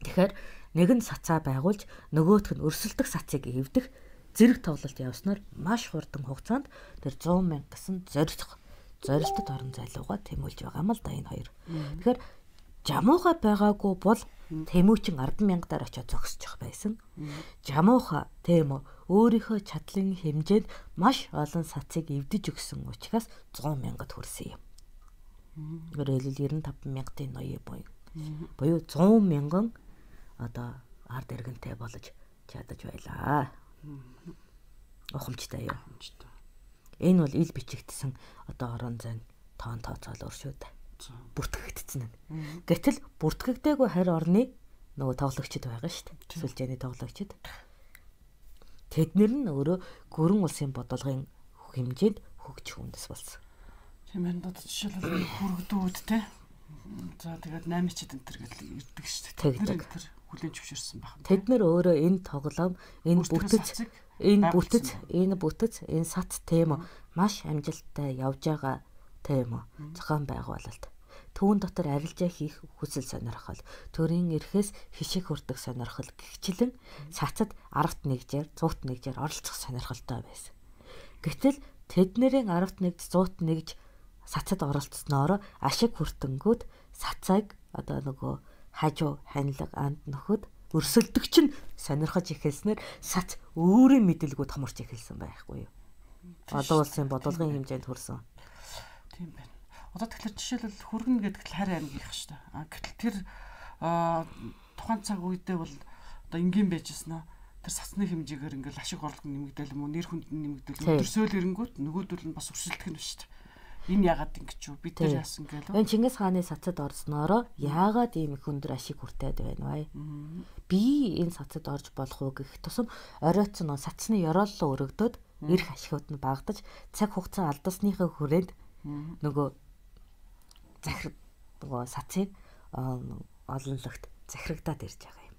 Тэгэхээр нэг нь сацаа байгуулж нөгөөх нь өрсөлдөх сацыг эвдэх зэрэг тоглолт явснаар маш хурдан хугацаанд тэр 100,000 гэсэн зорилттой орон зайлууга тэмүүлж байгаа юм л да энэ хоёр. Тэгэхээр Жамууха байгаагүй бол Тэмүүчин 10,000-аар очиод зогсчих байсан. Жамууха тийм үү өөрийнхөө чадлын хэмжээнд маш олон сацыг эвдэж өгсөн учраас 100,000-д хүрсэн юм. Өөрөөр хэлбэл 95,000-ын ноён буюу 100,000 одоо ард иргэнтэй болж чадаж байлаа. Ухамжтай юу? Энэ бол ил бичигдсэн одоо орон зайн тоон тооцоолоор шүү дээ. Бүртгэгдсэн нь. Гэтэл бүртгэгдээгүй харь орны нөгөө тоглогчд байгаа шүү дээ. Сүлжээний тоглогчд. Тэднэр нь өөрөө гүрэн улсын бодлогын хэмжээнд хөгжих үндэс болсон. Тийм ээ, одоо жишээлбэл хүргдүүд те. За тэгээд 8-чд энтер гэдэг ирдэг шүү дээ. Тэр энтер хүлэн зөвшөөрсөн баг. Тэд нар өөрөө энэ тоглоом, энэ бүтэц, энэ сац тем маш амжилттай явж байгаа тем зохион байгуулалт. Түүн дотор арилжаа хийх хүсэл сонирхол, төрийн эрхээс хишиг хүрдэг сонирхол гихчлэн цацад аргат нэгжээр, цуут нэгжээр оролцох сонирхолтой байсан. Гэтэл тэднэрийн аргат нэгж, цуут нэгж цацад оролцсноор ашиг хүртэнгүүд цацайг одоо нөгөө хажуу ханилга анд нөхөд өрсөлдөгч нь сонирхож эхэлснээр цац өөрийн мэдээлгүүд хамарч эхэлсэн байхгүй юу? Олон улсын бодлогын хэмжээнд хүрсэн. Тийм байна. Одоо тэгэхээр жишээлбэл хүргэн гэдэг л харь аймгийнх шүү дээ. Гэтэл тэр тухайн цаг үедээ бол одоо энгийн байжсэн нь тэр сацны хэмжээгээр ингээл ашиг орлого нэмэгдээл юм уу, нэр хүнд нэмэгдээл өдөрсөөл ирэнгүүт нөгөөдөл нь бас өрсөлдөх нь шүү дээ. Энэ яагаад ингэж юу? Бид тэр яасан гэлөө. Энэ Чингис хааны цацад орсноороо яагаад ийм их өндөр ашиг хүртээд байна вэ? Би энэ цацад орж болох уу гэх тусам оройтсон нөө цацны ёрооллоо өргөдөөд эрх ашигуд нь багтаж цаг хугацаа алдсныхаа хүрээнд нөгөө захирал нөгөө сацыг олонлогт захирагдаад ирж байгаа юм.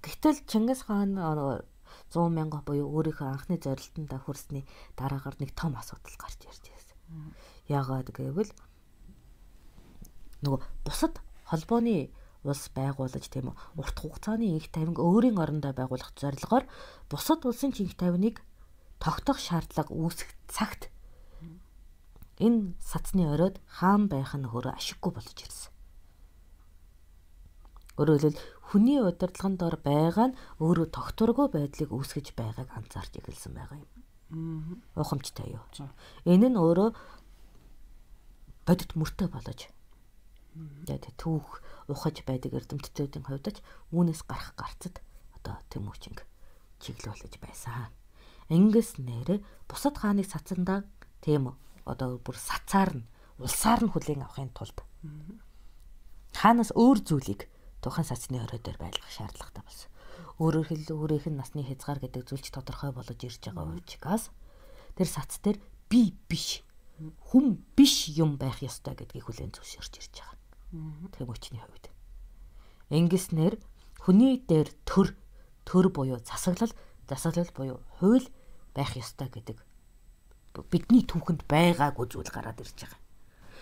Гэтэл Чингис хаан 100 мянга буюу өөрийнхөө анхны зорилтонд хүрсний дараагаар нэг том асуудал гарч ирж байсан. Яагаад гэвэл нөгөө бусад холбооны улс байгуулж тийм үү урт хугацааны их тавинг өөрийн орондоо байгуулах зорилгоор бусад улсын их тавиныг тогтоох шаардлага үүсэх цагт энэ сацны оройд хаан байх нь өөрөө ашиггүй болж ирсэн. Өөрөөр хэлбэл хүний удирдлагын дор байгаа нь өөрөө тогтворгүй байдлыг үүсгэж байгааг анзаарч эхэлсэн байгаа юм. Ухамжтай юу? Энэ нь өөрөө бодит мөртөө болж түүх ухаж байдаг эрдэмтдүүдийн хувьд ч үүнээс гарах гарцад одоо Тэмүүчинг чиглүүлж байсан. Ингээс нэрэ бусад хааны цацандаа тийм одоо бүр сацаар нь улсаар нь хүлээн авахын тулд хаанаас өөр зүйлийг тухайн сацны орой дээр байлгах шаардлагатай болсон. Өөрөөр хэлбэл өөрийнх нь насны хязгаар гэдэг зүйлч тодорхой болж ирж байгаа учраас тэр сац дээр би биш хүн биш юм байх ёстой гэдгийг хүлээн зөвшөөрч ирж байгаа. Тэмүүчний хувьд. Ингэснээр хүний дээр төр буюу засаглал буюу хууль байх ёстой гэдэг бидний түүхэнд байгаагүй зүйл гараад ирж байгаа.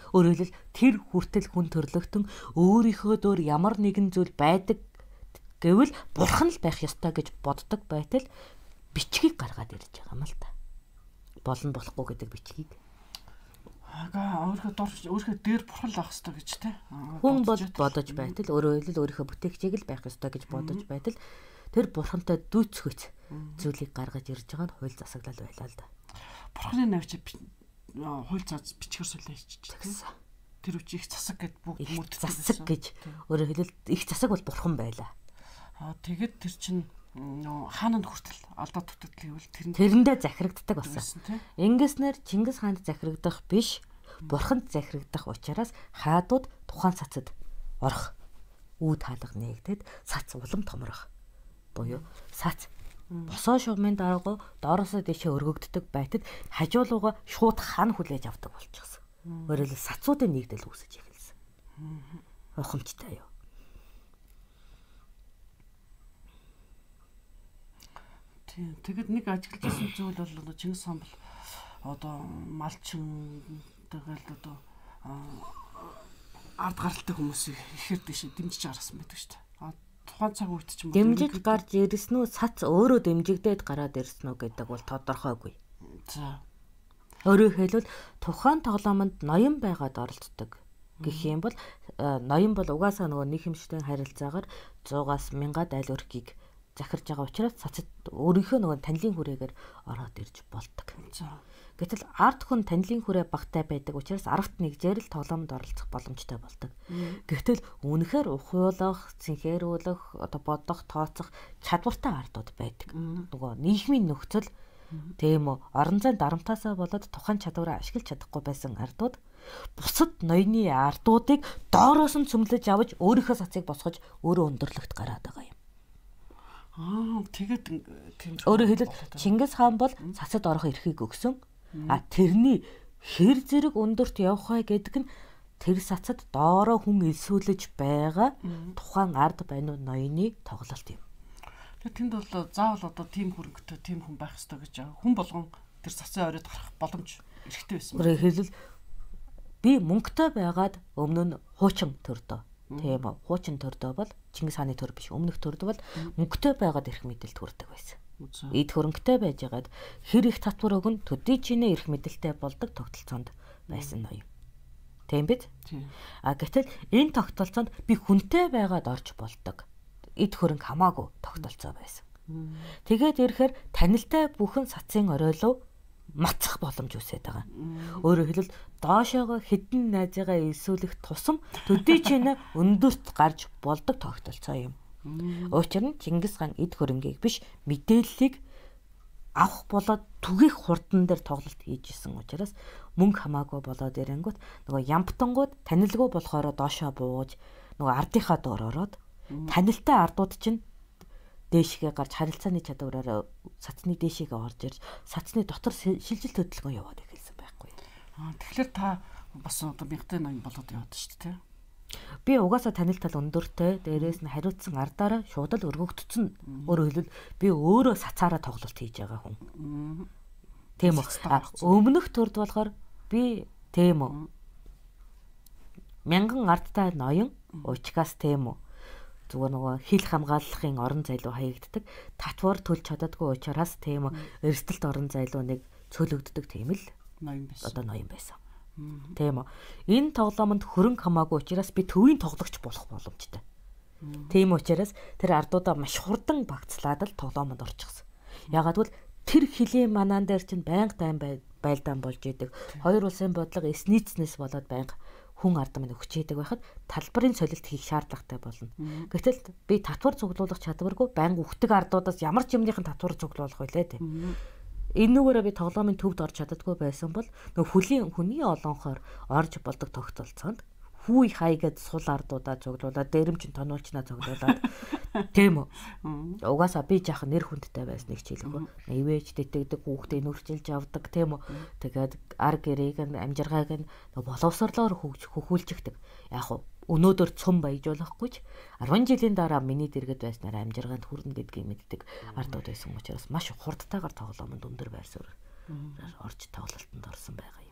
Өөрөөр хэлбэл тэр хүртэл хүн төрлөختөн өөрийнхөө дөр ямар нэгэн зүйл байдаг гэвэл бурхан л байх ёстой гэж боддог байтал бичгийг гаргаад ирж байгаа юм л та. Болно болохгүй гэдэг бичгийг. Өөрийнхөө дээр бурхан л авах ёстой гэж те. Хүн бодож байтал өөрөөр хэлбэл өөрийнхөө бүтээгчийг л байх ёстой гэж бодож байтал тэр бурхантай дүүцхөц зүйлийг гаргаж ирж байгаа нь хууль засаглал байлаа л да. Бурханы навч хууль цаас бичгээр суулаа хийчихсэн. Тэр үчи их засаг гэд бүгд мөрддөг засаг гэж өөрөөр хэлбэл их засаг бол бурхан байлаа. Тэгээд тэр чинь хаананд хүртэл алдаа дутагдал гэвэл тэрэндээ захирагддаг болсон. Ингэснээр Чингис хаанд захирагдах биш, бурханд захирагдах учраас хаадууд тухайн цацад орох үүд хаалга нээгдээд цац улам томрох. Буюу цац босоо шугамын дараагаа доороосоо дэшээ өргөгддөг байтад хажуулууга шууд хан хүлээж авдаг болчихсон. Өөрөөр хэлбэл сацуудын нэгдэл үүсэж эхэлсэн. Ухамжтай юу? Тэгэд нэг ажиглажсэн зүйл бол Чингис хаан бол одоо малчин тэгэл одоо ард гаралтай хүмүүсийг ихээр дэше дэмжиж гаргасан байдаг шүү дээ. Тухайн цаг үед ч юм уу дэмжиж гарч ирсэн үү, цац өөрөө дэмжигдээд гараад ирсэн үү гэдэг бол тодорхойгүй. За. Өөрөөр хэлбэл тухайн тоглоомонд ноён байгаад оролцдог гэх юм бол ноён бол угаасаа нөгөө нийгэмшлийн харилцаагаар 100-аас 1000-аад айл өрхийг захирж байгаа учраас цацад өөрийнхөө нөгөө танилын хүрээгээр ороод ирж болдог. Гэтэл ард хүн танилын хүрээ багтай байдаг учраас аргат нэгжээр л тоглоомд оролцох боломжтой болдог. Гэтэл үнэхээр ухуулах, цэнхээрүүлэх, одоо бодох, тооцох чадвартай ардууд байдаг. Нөгөө нийгмийн нөхцөл тийм үү орон зайн дарамтаасаа болоод тухайн чадвараа ашиглаж чадахгүй байсан ардууд бусад ноёны ардуудыг доороос нь цөмлөж авч өөрийнхөө сацыг босгож өөрөө өндөрлөгт гараад байгаа юм. Тэгээд тийм өөрөөр хэлбэл Чингис хаан бол цацад орох эрхийг өгсөн. Тэрний хэр зэрэг өндөрт явах вэ гэдэг нь тэр сацад доороо хүн элсүүлж байгаа тухайн ард байна уу ноёны тоглолт юм. Тэгээд тэнд бол заавал одоо тийм хөрөнгөтэй тийм хүн байх ёстой гэж хүн болгон тэр цацын оройд гарах боломж эрхтэй байсан. Өөрөөр хэлбэл би мөнгөтэй байгаад өмнө нь хуучин төрдөө. Тийм үү? Хуучин төрдөө бол Чингис хааны төр биш. Өмнөх төрд бол мөнгөтэй байгаад эрх мэдэлд хүрдэг байсан. Эд хөрөнгөтэй байжгаад хэр их татвар өгөн төдий чинээ эрх мэдэлтэй болдог тогтолцоонд байсан ноён. Тийм биз? Гэтэл энэ тогтолцоонд би хүнтэй байгаад орж болдог. Эд хөрөнгө хамаагүй тогтолцоо байсан. Тэгээд ирэхээр танилтай бүхэн сацын оройлоо мацах боломж үсээд байгаа. Өөрөөр хэлбэл доошоогоо хідэн найзыгаа элсүүлэх тусам төдий чинээ өндөрт гарч болдог тогтолцоо юм. Учир нь Чингис хаан эд хөрөнгийг биш мэдээллийг авах болоод түгэх хурдан дээр тоглолт хийж исэн учраас мөнгө хамаагүй болоод ирэнгүүт нөгөө ямптангууд танилгүй болохоор доошоо бууж нөгөө ардынхаа доор ороод танилтай ардууд чинь дээшгээ гарч харилцааны чадвараараа сацны дээшгээ орж ирж сацны дотор шилжилт хөдөлгөөн яваад эхэлсэн байхгүй. Тэгэхээр та бас одоо мягтай ноён болоод яваад шүү дээ. Би угаасаа танил тал өндөртэй дээрээс нь хариуцсан ардаараа шууд л өргөгдсөн. Өөрөөр хэлбэл би өөрөө сацаараа тоглолт хийж байгаа хүн. Тийм үү. Өмнөх төрд болохоор би тийм үү. Мянган ардтай ноён уучгаас тийм үү. Зүгээр нөгөө хил хамгааллахын орон зайлуу хаягддаг. Татвар төлж чаддаггүй учраас тийм үү. Эрсдэлт орон зайлуу нэг цөлөгддөг тийм л ноён байсан. Одоо ноён байсан. Тийм үү. Энэ тоглоомонд хөрөнгө хамаагүй учраас би төвийн тоглогч болох боломжтой. Тийм учраас тэр ардуудаа маш хурдан багцлаад л тоглоомонд орчихсон. Ягаад гэвэл тэр хилийн манаан дээр чинь байнга тайм байлдаан болж идэг. Хоёр улсын бодлого эснийцнээс болоод байнга хүн ард минь өгчээдэг байхад талбарын солилт хийх шаардлагатай болно. Гэтэл би татвар цуглуулах чадваргүй байнга өгдөг ардуудаас ямар ч юмныхын татвар цуглуулах байлээ дээ. Энэ нүгээрээ би тоглоомын төвд орж чаддаггүй байсан бол нөгөө хүний олонхоор орж болдог тогтолцоонд хүй хайгээд сул ардуудаа цуглуулаад дээрэмчин тонуулчнаа цуглуулаад тийм үү. Угаасаа би жаахан нэр хүндтэй байсныг хэлэхгүй. Ивэж дэтэгдэг хүүхдээ нүрчилж авдаг тийм үү. Тэгээд ар гэрээг нь амжиргааг нь боловсрлоор хөхүүлчихдэг. Яг уу өнөөдөр цөм баяжуулахгүй ч 10 жилийн дараа миний дэргэд байснаар амжиргаанд хүрнэ гэдгийг мэддэг ардууд байсан учраас маш хурдтайгаар тоглоомонд өндөр байр суурь орж тоглолтод орсон байгаа юм.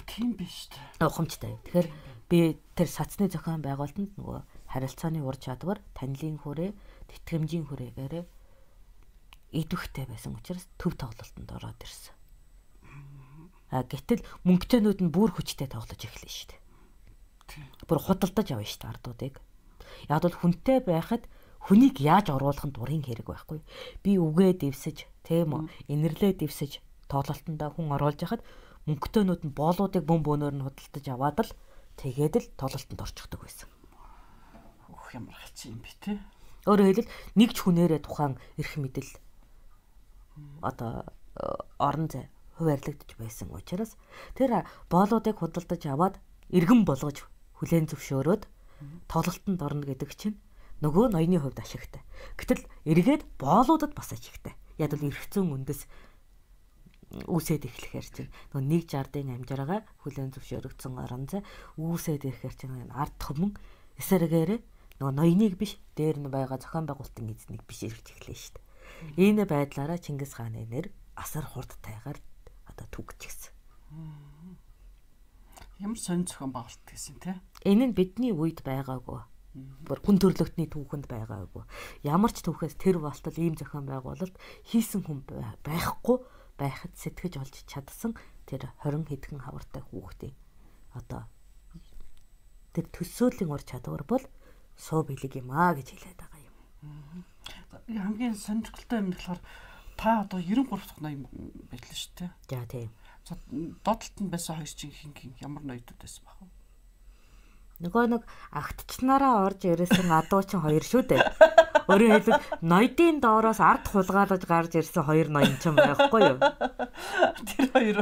Тийм биш үү? Ухамжтай. Тэгэхээр би тэр сацны зохион байгуулалтанд нөгөө харилцааны ур чадвар, танилын хүрээ, тэтгэмжийн хүрээгээр идэвхтэй байсан учраас төв тоглолтод ороод ирсэн. Гэтэл мөнгөтэйнүүд нь бүр хүчтэй тоглож эхэлнэ шүү дээ. Бүр худалдаж авна шүү дээ ардуудыг. Яг бол хүнтэй байхад хүнийг яаж оруулах нь дурын хэрэг байхгүй. Би үгээ дэвсэж, тийм үү, инэрлээ дэвсэж тоглолтондоо хүн оруулж яхад мөнгөтэйнүүд нь боолуудыг бөм бөөнөөр нь худалдаж аваад л тэгээд л тоглолтонд орчихдог байсан. Ямар хачин юм бэ те? Өөрөөр хэлбэл нэг ч хүнээрээ тухайн эрх мэдэл одоо орон зай хуваарлагдаж байсан учраас тэр боолуудыг худалдаж аваад иргэн болгож хүлээн зөвшөөрөөд тоглолтонд орно гэдэг чинь нөгөө ноёны хувьд ашигтай. Гэтэл эргээд боолуудад бас ашигтай. Яг л эргэцэн үндэс үүсээд эхлэхээр чинь нөгөө 160-ын амжиргаа хүлээн зөвшөөрөгдсөн орон зай үүсээд ирэхээр чинь ард түмэн эсэргээрээ нөгөө ноёныг биш дээр нь байгаа зохион байгуулалтын эзнийг биш эргэж эхлэв шүү дээ. Энэ байдлаараа Чингис хааны нэр асар хурдтайгаар одоо түгжчихсэн. Ямар сонь зохион байгуулалт гэсэн те? Энэ нь бидний үед байгаагүй. Бүр хүн төрлөختний түүхэнд байгаагүй. Ямар ч түүхээс тэр болтол ийм зохион байгуулалт хийсэн хүн байхгүй байхад сэтгэж олж чадсан тэр 20 хэдхэн хавартай хүүхдийн одоо тэр төсөөлийн ур чадвар бол суу бэлэг юм аа гэж хэлээд байгаа юм. Хамгийн сонирхолтой юм болохоор та одоо 93 дахь ноён байлаа шүү дээ. За тийм. За доотлолт нь байсан хоёр чинь хин ямар ноёдууд байсан баг вэ? Нөгөө нэг агтчнараа орж ирсэн адуу чинь хоёр шүү дээ. Өөрөөр хэлбэл ноёдын доороос ард хулгаалж гарч ирсэн хоёр ноён ч юм байхгүй юу? Тэр хоёр.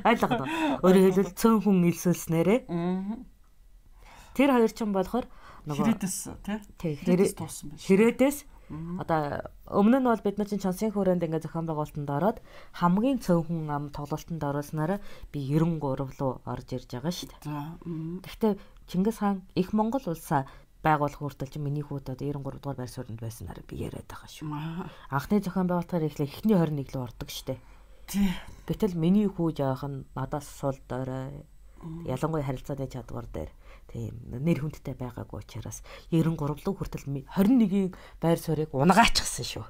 Ойлгоно. Өөрөөр хэлбэл цөөн хүн илсүүлснээрээ. Тэр хоёр ч юм болохоор нөгөө хэрэгдэс тий. Хэрэгдэс туусан байна. Хэрэгдэс одоо өмнө нь бол бид нар чинь чансын хүрээнд ингээ зохион байгуулалтанд ороод хамгийн цөөнхөн ам тоглолтод оролцснараа би 93 руу орж ирж байгаа шүү дээ. Гэхдээ Чингис хаан их Монгол улсаа байгуулах хүртэл чинь миний хүүд одоо 93 дугаар байр сууринд байснаар би яриад байгаа шүү. Анхны зохион байгуулалтаар эхлээ эхний 21 рүү ордог шүү дээ. Гэтэл миний хүү жаахан надаас сул дорой ялангуяа харилцааны чадвар дээр тийм нэр хүндтэй байгаагүй учраас 93 руу хүртэл 21-ийн байр суурийг унгаачихсан шүү.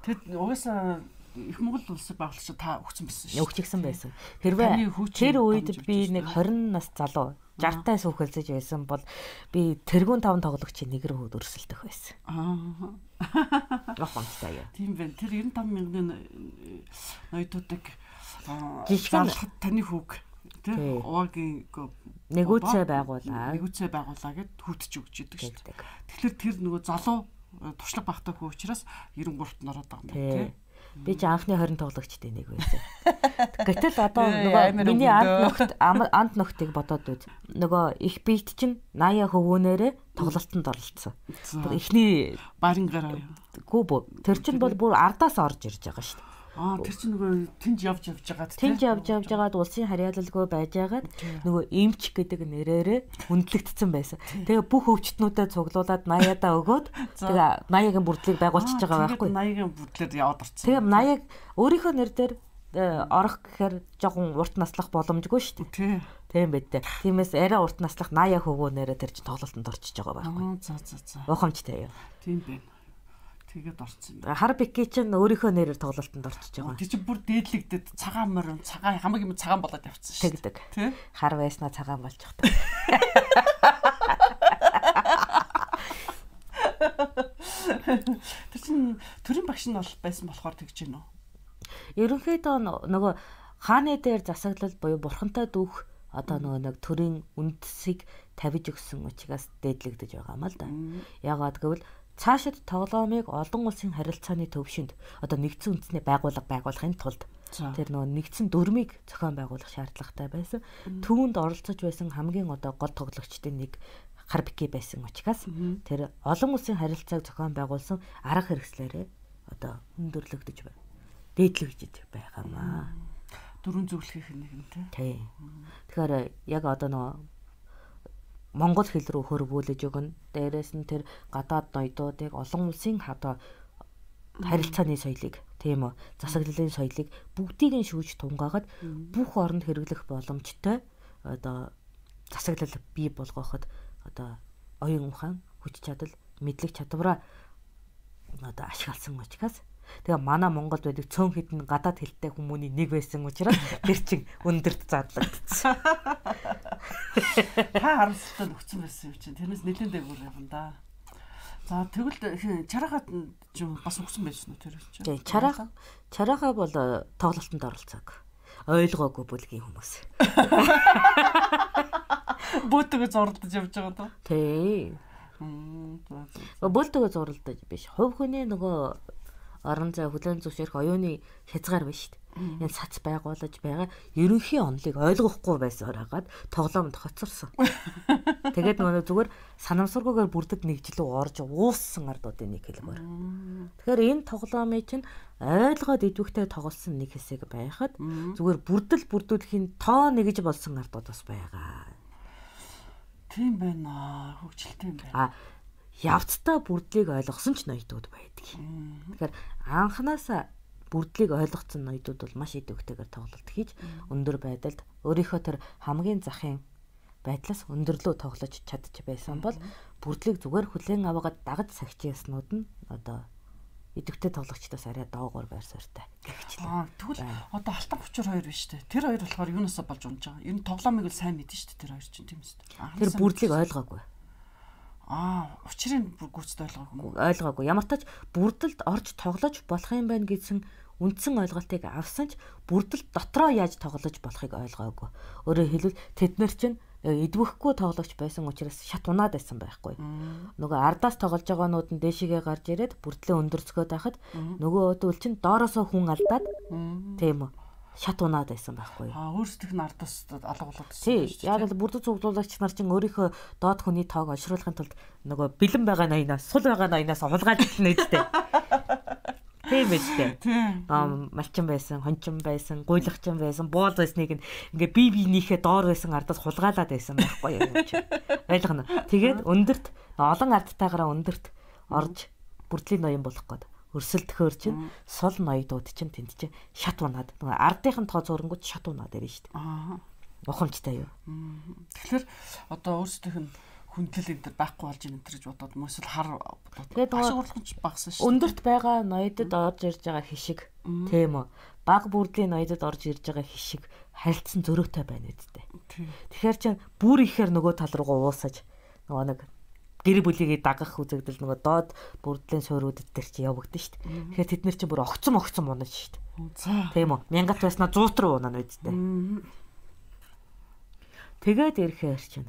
Тэгэд угаасаа их Монгол улсыг байгуулагч та өгсөн байсан шүү. Өгчихсэн байсан. Хэрвээ тэр үед би нэг 20 нас залуу 60-таас үхэлцэж байсан бол би тэргүүн 5 тоглогчийн нэг рүү өрсөлдөх байсан. Гохомжтой яа. Тийм байна. Тэр 95 мянган ноёдуудыг жишгэн таны хүүг тий уугийн нэгүцээ байгуулаа гэд хүүтж өгч идэг шүү дээ. Тэгэхээр тэр нөгөө залуу туршлага багтаа хүү учраас 93-т ороод байгаа юм тий. Би ч анхны 20 тоглогчтой нэг байсан. Гэтэл одоо нөгөө миний анд нөхтийг бодоод үз. Нөгөө их бийт чинь 80 хөвөөнээрээ тоглолтод оролцсон. Эхний барын гараа. Гүб. Тэр чинь бол бүр ардаас орж ирж байгаа шүү дээ. Тэр чинь нөгөө тэнд явж байгаад тэнд явж байгаад улсын харьяалалгүй байж байгаад нөгөө эмч гэдэг нэрээрээ хүндлэгдсэн байсан. Тэгээ бүх өвчтнүүдэд цуглуулад 80-аа өгөөд тэгээ 80-ийн бүрдлийг байгуулчихж байгаа байхгүй. 80-ийн бүрдлээр яваад орсон. Тэгээ 80-ыг өөрийнхөө нэр дээр орох гэхээр жоохон урт наслах боломжгүй шүү дээ. Тийм байдэ. Тиймээс арай урт наслах 80 хөвгөөнээрээ тэр чинь тоглолтод орчиж байгаа байхгүй. За. Ухамжтай юу? Тийм байна. Тэгээд орсон. Хар бики чинь өөрийнхөө нэрээр тоглолтод орчиж байгаа. Тэр чинь бүр дээдлэгдэд цагаан морин цагаан хамаг юм цагаан болоод явцсан шүү. Тэгдэг. Хар байснаа цагаан болчих та. Тэр чинь төрийн багш нь бол байсан болохоор тэгж гинөө. Ерөнхийдөө нөгөө хааны дээр засаглал буюу бурхантай дүүх одоо нөгөө нэг төрийн үндсийг тавьж өгсөн учраас дээдлэгдэж байгаа юм л да. Яагаад гэвэл цаашид тоглоомыг олон улсын харилцааны төвшөнд одоо нэгдсэн үндэсний байгуулахын тулд тэр нөгөө нэгдсэн дүрмийг зохион байгуулах шаардлагатай байсан. Түүнд оролцож байсан хамгийн одоо гол тоглогчдын нэг хар бики байсан учраас тэр олон улсын харилцааг зохион байгуулсан арга хэрэгслээрээ одоо өндөрлөгдөж байна. Дээдлэгдэж байгаа маа. Дөрвөн зөвлөхийнх нэг юм тий. Тэгэхээр яг одоо нөгөө монгол хэл рүү хөрвүүлж өгнө. Дээрээс нь тэр гадаад ноёдуудыг олон улсын одоо харилцааны соёлыг тийм үү засаглалын соёлыг бүгдийг нь шүүж тунгаагаад бүх оронд хэрэглэх боломжтой одоо засаглал бий болгоход одоо оюун ухаан хүч чадал мэдлэг чадвараа одоо ашигласан учраас тэгээ манай Монголд байдаг цөөн хідэн гадаад хэлтэй хүмүүний нэг байсан учраас тэр чин өндөрт задлагдсан. Та харамсалтай нөхцөн байсан юм чинь. Тэрнээс нэлээд дээгүүр явна да. За тэгвэл чарахад ч бас өгсөн байсан уу тэр чинь? Тийм чарахаа бол тоглолтод оролцоог. Ойлгоогүй бүлгийн хүмүүс. Бөөтгөө зурлаж явж байгаа даа. Тийм. Бөөтгөө зурлаж биш. Хувь хүний нөгөө орон зай хүлэн зөвшөөрөх оюуны хязгаар биш шүү дээ. Энэ сац байгуулж байгаа ерөнхий онолыг ойлгохгүй байсаар хагаад тоглоомд хоцорсон. Тэгээд нөгөө зүгээр санамсаргүйгээр бүрдэж нэгжлүү орж ууссан ардуудын нэг хэлбэр. Тэгэхээр энэ тоглоомын чинь ойлгоод идэвхтэй тоглосон нэг хэсэг байхад зүгээр бүрдүүлэхийн тоо нэгж болсон ардууд бас байгаа. Тийм байна. Хөгжилтэй юм байна. Явцдаа бүрдлийг ойлгосон ч ноёдууд байдаг. Тэгэхээр анханасаа бүрдлийг ойлгоцсон ноёдууд бол маш идэвхтэйгээр тоглолт хийж өндөр байдалд өөрийнхөө тэр хамгийн захын байдлаас өндөрлөө тоглож чадчих байсан бол бүрдлийг зүгээр хүлээн аваагаад дагаж сахижсанууд нь одоо идэвхтэй тоглогчдоос арай доогоор байр суурьтай гихчлээ. Тэгвэл одоо алтан бочор хоёр биш үү? Тэр хоёр болохоор юунаас болж унж байгаа? Ер нь тоглоомыг л сайн мэдэн шүү дээ тэр хоёр чинь тийм үү? Тэр бүрдлийг ойлгоогүй. Учрыг гүйцэд ойлгоогүй. Ойлгоогүй. Ямар ч тач бүрдэлд орж тоглож болох юм байна гэсэн үндсэн ойлголтыг авсан ч бүрдэл дотроо яаж тоглож болохыг ойлгоогүй. Өөрөөр хэлбэл тэд нар чинь эдвэхгүй тоглогч байсан учраас шат унаад байсан байхгүй. Нөгөө ардаас тоглож байгаанууд нь дээшигээ гарч ирээд бүрдлээ өндөрцгөөд байхад нөгөө өдөл чинь доороосоо хүн алдаад тийм үү шат унаад байсан байхгүй. Өөрсдөх нь ардаас алга болоод байсан. Тийм. Яг л бүрдэл цуглуулагч нар чинь өөрийнхөө доод хүний тоог олшруулахын тулд нөгөө бэлэн байгаа ноёнаас сул байгаа ноёнаас хулгайлж хэлнэ үстэй. Тийм ээ. Малчин байсан, хончин байсан, гуйлагчин байсан, боол байсныг ингээ бие биенийхээ доор байсан ардаас хулгайлаад байсан байхгүй юу чи. Ойлгоно. Тэгээд өндөрт олон ардтайгаараа өндөрт орж бүрдлийн ноён болох гээд өрсөлдөхөөр чинь сул ноёдууд чинь тэнд чинь шат унаад нөгөө ардынхын тоо зурангууд шат унаад ирнэ шүү дээ. Ухамжтай юу. Тэгэхээр одоо өөрсдийнх нь хүндэл энэ байхгүй болж ийн гэж бодоод мөсөл хар тэгээд ашигурлахч багсан шүү. Өндөрт байгаа ноёдод орж ирж байгаа хишиг тийм үү. Баг бүрдлийн ноёдод орж ирж байгаа хишиг харилцсан зөрөөтэй байна үсттэй. Тэгэхээр чинь бүр ихээр нөгөө тал руугаа уусаж нөгөө нэг гэр бүлийг дагах үзэгдэл нөгөө доод бүрдлийн суурьудад төр чи явагдсан шүү дээ. Тэгэхээр тэд нар чинь бүр огцом унаж шүү дээ. Тийм үү. Мянгат байснаа 100 руу унаа үсттэй. Тэгээд ирэхээр чинь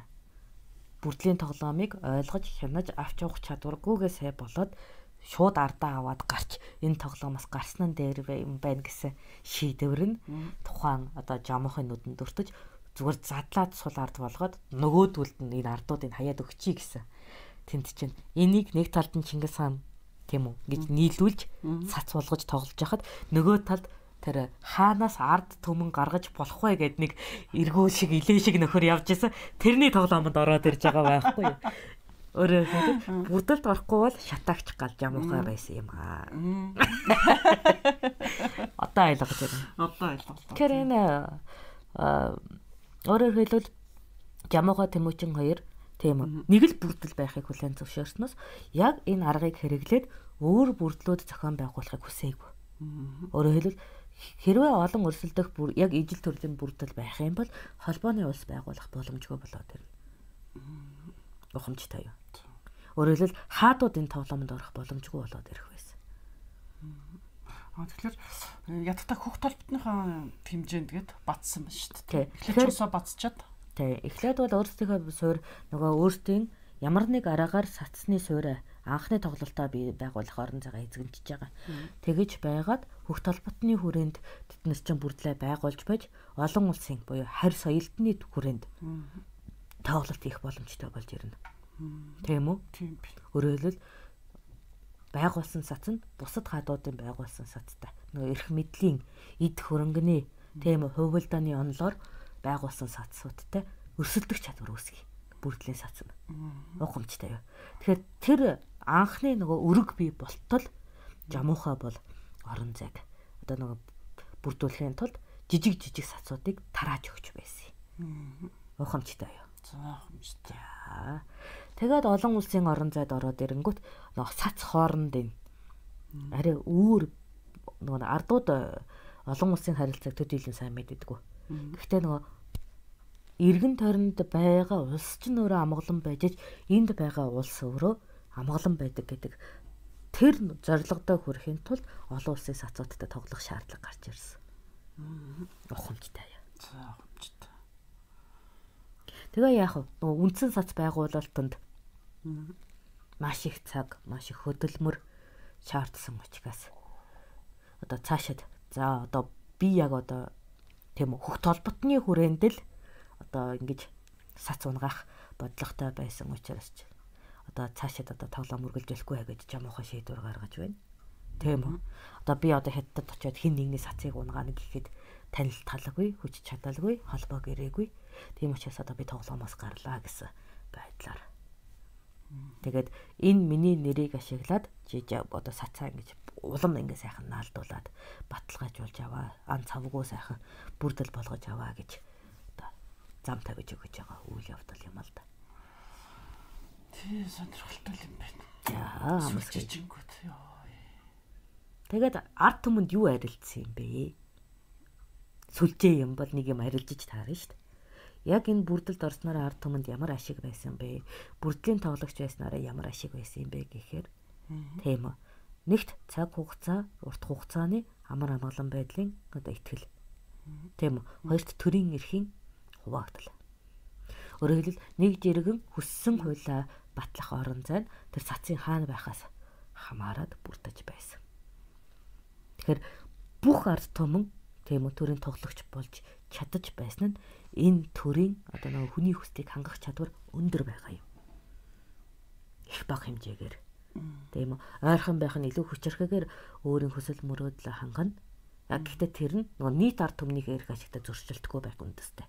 бүрдлийн тоглоомыг ойлгож хянаж авч явах чадваргүйгээ сай болоод шууд ардаа аваад гарч энэ тоглоомоос гарсан нь дээр юм байна гэсэн шийдвэр нь тухайн одоо жамхын нүдэнд өртөж зүгээр задлаад сул ард болгоод нөгөөдөлд нь энэ ардуудыг хаяад өгчий гэсэн. Тэнд чинь энийг нэг талд нь Чингис хаан тийм үү гэж нийлүүлж цац болгож тоглож яхад нөгөө талд тэр хаанаас ард төмөн гаргаж болох вэ гэд нэг эргүүл шиг илээ шиг нөхөр явж исэн. Тэрний тоглоомонд ороод ирж байгаа байхгүй юу? Өөрөөр хэлбэл бүрдэлд орохгүй бол шатаагч гал жамуухай байсан юм аа. Одоо ойлгож байна. Одоо ойлголоо. Тэр энэ өөрөөр хэлбэл жамуухай Тэмүүчин хоёр тийм үү. Нэг л бүрдэл байхыг хүлээн зөвшөөрснөөс яг энэ аргыг хэрэглээд өөр бүрдлүүд зохион байгуулахыг хүсээгүй. Өөрөөр хэлбэл хэрвээ олон өрсөлдөх бүр яг ижил төрлийн бүрдэл байх юм бол холбооны улс байгуулах боломжгүй болоод ирнэ. Ухамжтай юу? Өөрөөр хэлбэл хаадууд энэ тоглоомонд орох боломжгүй болоод ирэх байсан. Тэгэхээр ядтаа хөх толботныхаа хэмжээнд гээд батсан байна шүү дээ. Эхлээд усаа батсчаад. Эхлээд бол өөрсдийнхөө суурь нөгөө өөртөө ямар нэг араагаар сацсны суурь анхны тоглолтоо бий байгуулах орон зайгаа эзэмшиж байгаа. Тэгэж байгаад хөх толботны хүрээнд тэднээс чинь бүрдлээ байгуулж байж олон улсын буюу харь соёлтны хүрээнд тоглолт хийх боломжтой болж ирнэ. Тийм үү? Тийм. Өөрөөр хэлбэл байгуулсан сац нь бусад хаадуудын байгуулсан сацтай. Нөгөө эрх мэдлийн эд хөрөнгөний тийм үү хувилдааны онолоор байгуулсан сацуудтай өрсөлдөх чадвар үүсгий. Бүрдлийн сац нь. Ухамжтай юу. Тэгэхээр тэр анхны нөгөө өрөг бий болтол жамуухай бол орон зайг одоо нөгөө бүрдүүлэхийн тулд жижиг сацуудыг тарааж өгч байсан. Ухамжтай юу. Ухамжтай. Тэгээд олон улсын орон зайд ороод ирэнгүүт нөгөө сац хоорондын арай үүр нөгөө ардууд олон улсын харилцааг төдийлөн сайн мэддэггүй. Гэхдээ нөгөө эргэн тойронд байгаа улс ч нөрөө амгалан байж энд байгаа улс өөрөө амгалан байдаг гэдэг тэр зорилгодоо хүрэхин тулд олон улсын сацуудтай тоглох шаардлага гарч ирсэн. Ухамжтай яа. Ухамжтай. Тэгээ яах вэ? Нөгөө үндсэн сац байгуулалтанд маш их цаг, маш их хөдөлмөр шаардсан учраас одоо цаашид за одоо би яг одоо тийм үү хөх толботны хүрээнд л одоо ингэж сац унгаах бодлоготой байсан учраас одоо цаашид одоо тоглоом үргэлжлэхгүй гэж жамуухай шийдвэр гаргаж байна. Тийм үү? Одоо би одоо хятадд очиод хин нэгний сацыг унгаана гэхэд танил талгүй, хүч чадалгүй, холбоо гэрээгүй. Тийм учраас одоо би тоглоомоос гарлаа гэсэн байдлаар. Тэгээд энэ миний нэрийг ашиглаад жижиг одоо сацаа ингэж улам ингэ сайхан наалдуулаад баталгаажуулж аваа. Ан цавгүй сайхан бүрдэл болгож аваа гэж одоо зам тавьж өгч байгаа үйл явдал юм л да. Тий, сонирхолтой юм байна. Яа, амсгийгүүд ёо. Тэгээд ард түмэнд юу арилцсан юм бэ? Сүлжээ юм бол нэг юм арилжиж таарна шүү дээ. Яг энэ бүрдэлд орсноор ард түмэнд ямар ашиг байсан бэ? Бүрдлийн тоглогч байснараа ямар ашиг байсан юм бэ гэхээр тийм үү. Нэгт цаг хугацаа, урт хугацааны амар амгалан байдлын одоо ихтгэл. Тийм үү. Хоёрт төрийн эрхийн хуваагдал. Өөрөөр хэлбэл нэг жиргэн хүссэн хуулиа батлах орон зай тэр цацын хаана байхаас хамаарад бүрдэж байсан. Тэгэхээр бүх ард түмэн тийм үү төрийн тоглогч болж чадаж байсан нь энэ төрийн одоо нэг хүний хүслийг хангах чадвар өндөр байгаа юм. Их бага хэмжээгээр. Тийм үү. Ойрхон байх нь илүү хүчрэхээр өөрийн хүсэл мөрөөдлөө хангана. Яг гэхдээ тэр нь нөгөө нийт ард түмнийг эрх ашигтай зөрчилдөхгүй байх үндэстэй.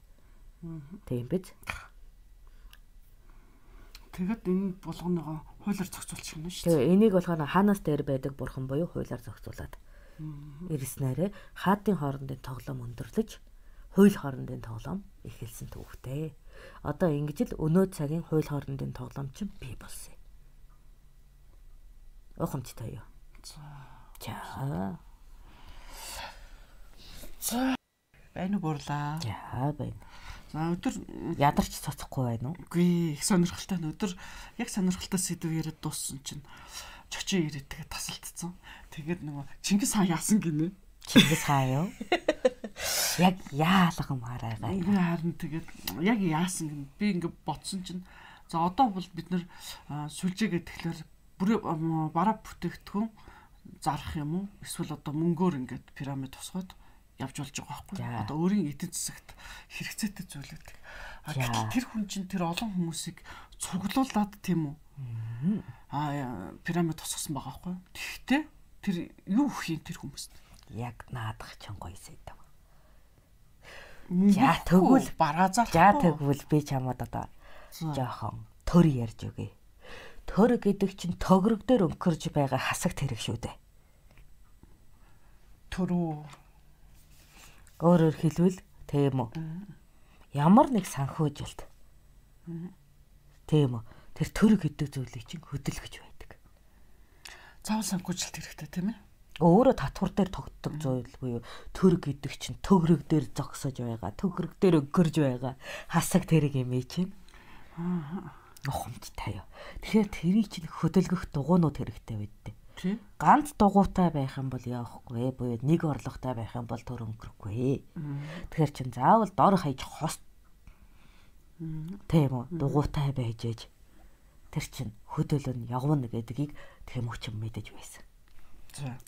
Тийм биз? Тэгэд энэ булганыгоо хуулиар зохицуулчих юм шүү дээ. Тэгээ энийг болохоор хаанаас дээр байдаг бурхан буюу хуулиар зохицуулаад ирснээрээ хаадын хоорондын тоглоом өндөрлөж хууль хоорондын тоглоом эхэлсэн төвхтэй. Одоо ингэж л өнөө цагийн хууль хоорондын тоглоом чинь бий болсон. Ухамжтай юу? За. Байна уу бурлаа? За байна. За өдөр ядарч цоцохгүй байна уу? Үгүй их сонирхолтой нь өдөр яг сонирхолтой сэдв яриад дууссан чинь чочоо ирээд тэгээ тасалдсан. Тэгээд нөгөө Чингис хаан яасан гинэ? Чингис хаан юу? Яг яалгамаар байгаа. Үгүй харин тэгээд яг яасан гин би ингээ бодсон чинь за одоо бол бид нэр сүлжээгээ тэгэхээр бүр бараа бүтээгдэхүүн зарах юм уу? Эсвэл одоо мөнгөөр ингээд пирамид тусгаад явж болж байгаа байхгүй. Одоо өөрийн эдийн засагт хэрэгцээтэй зүйлүүд. Тэр хүн чинь тэр олон хүмүүсийг цуглуулад тийм үү? Пирамид тусгасан байгаа байхгүй. Тэгэхдээ тэр юу өгөх юм тэр хүмүүст? Яг наадах ч гоё сэдв. За тэгвэл бараа зарах. За тэгвэл би чамд одоо жоохон төр ярьж өгье. Төр гэдэг чинь төгрөг дээр өнгөрж байгаа хасагт хэрэг шүү дээ. Төрөө. Өөрөөр хэлбэл тийм үү. Ямар нэг санхүүжилт. Тийм үү. Тэр төр гэдэг зүйлийг чинь хөдөлгөж байдаг. Заавал санхүүжилт хэрэгтэй тийм ээ? Өөрөө татвар дээр тогтдог зүйл буюу төр гэдэг чинь төгрөг дээр зогсож байгаа, төгрөг дээр өнгөрж байгаа хасаг тэрэг юм чинь. Ухамжтай юу. Тэгэхээр тэрийг чинь хөдөлгөх дугуйнууд хэрэгтэй байдтэй. Ганц дугуйтай байх юм бол явахгүй, буюу нэг орлоготой байх юм бол төр өнгөрөхгүй. Тэгэхээр чинь заавал дор хаяж хос. Тийм үү? Дугуйтай байж ээж. Тэр чинь хөдөлөн явна гэдгийг Тэмүүчин мэдэж байсан.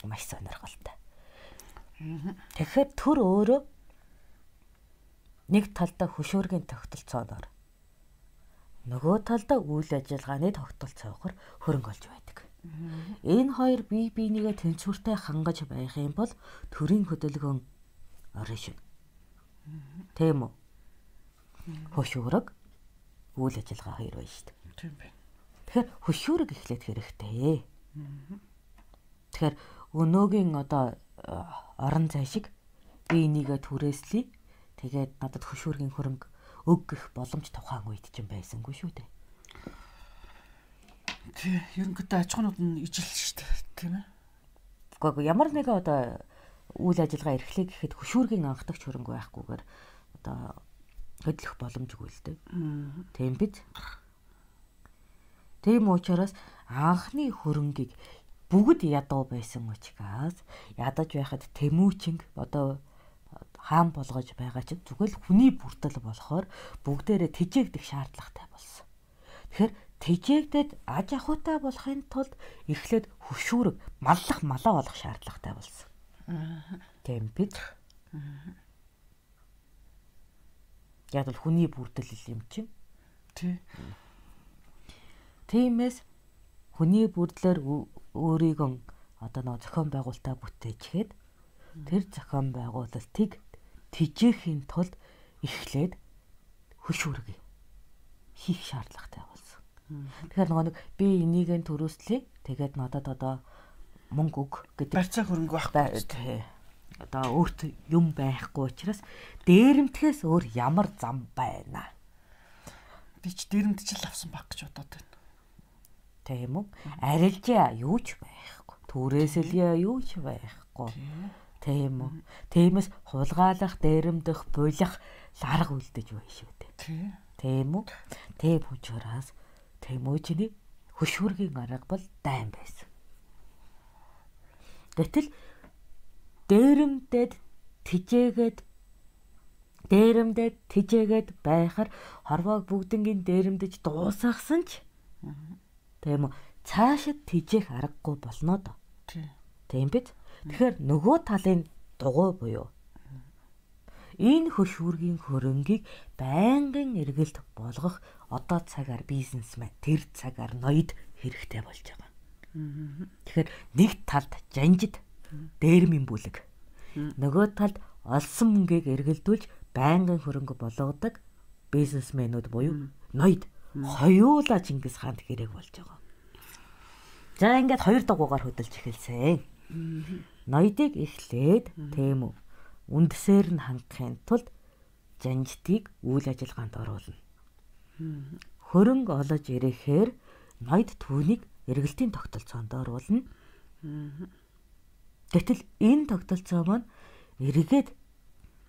Маш сонирхолтой. Тэгэхээр төр өөрөө нэг талдаа хөшөөргийн тогтолцооноор нөгөө талдаа үйл ажиллагааны тогтолцоогоор хөрөнгө олж байдаг. Энэ хоёр бие биенийгээ тэнцвэртэй хангаж байх юм бол төрийн хөдөлгөөн орно шүү. Тийм үү? Хөшөөрөг үйл ажиллагаа хоёр байна шүү дээ. Тийм байна. Тэгэхээр хөшөөрөг эхлээд хэрэгтэй. Тэгэхээр өнөөгийн одоо орон зай шиг би энийгээ түрээслэе. Тэгээд надад хөшөөргийн хөрөнгө өг гэх боломж тухайн үед ч юм байсангүй шүү дээ. Тий, ерөнхийдөө аж ахуйнууд нь ижил шүү дээ, тийм ээ. Гэхдээ ямар нэгэн одоо үйл ажиллагаа эрхлэе гэхэд хөшөөргийн анхдагч хөрөнгө байхгүйгээр одоо хөдлөх боломжгүй л дээ. Тийм биз? Тийм учраас анхны хөрөнгийг бүгд ядуу байсан учраас ядаж байхад Тэмүүчин одоо хаан болгож байгаа чинь зүгээр л хүний бүртэл болохоор бүгдээрээ тэжээгдэх шаардлагатай болсон. Тэгэхээр тэжээгдээд аж ахуйтай болохын тулд эхлээд хөшүүрэг маллах малаа болох шаардлагатай болсон. Тийм биз? Яг л хүний бүрдэл юм чинь. Тий. Тиймээс хүний бүрдлэр өөрийгөө одоо нэг зохион байгуулалтаа бүтээчихэд тэр зохион байгуулалтыг тэжээхийн тулд эхлээд хөшүүрэг хийх шаардлагатай болсон. Тэгэхээр нэг би энийг нь төрөөслөе. Тэгээд надад одоо мөнгө өг гэдэг барьцаа хөрөнгө байхгүй. Одоо өөрт юм байхгүй учраас дээрэмтгэхээс өөр ямар зам байна? Би ч дээрэмтжил авсан баг гэж бодоод байна. Тийм үү? Арилжаа юу ч байхгүй. Түрээсэлья юу ч байхгүй. Тийм үү? Тиймээс хулгайлах, дээрэмдэх, булих арга үлдэж байна шүү дээ. Тийм үү? Тийм учраас Тэмүүжний хөшүүргийн арга бол дайн байсан. Гэтэл дээрэмдээд тижээгээд байхаар хорвоог бүгднгийн дээрэмдэж дуусгасан ч тийм үү? Цаашид тижээх аргагүй болно доо. Тийм биз? Тэгэхээр нөгөө талын дугуй буюу энэ хөшүүргийн хөрөнгийг байнгын эргэлт болгох одоо цагаар бизнесмен тэр цагаар ноёд хэрэгтэй болж байгаа. Тэгэхээр нэг талд жанжид дээрмийн бүлэг. Нөгөө талд олсон мөнгийг эргэлдүүлж байнгын хөрөнгө болгодог бизнесмэнүүд буюу ноёд хоёулаа Чингис хаанд хэрэг болж байгаа. За ингээд хоёр дугуугаар хөдөлж эхэлсэн. Ноёдыг эхлээд тийм үү үндэсээр нь хангахын тулд жанждыг үйл ажиллагаанд оруулна. Хөрөнгө олж ирэхээр ноёд түүнийг эргэлтийн тогтолцоонд оруулна. Гэтэл энэ тогтолцоо маань эргээд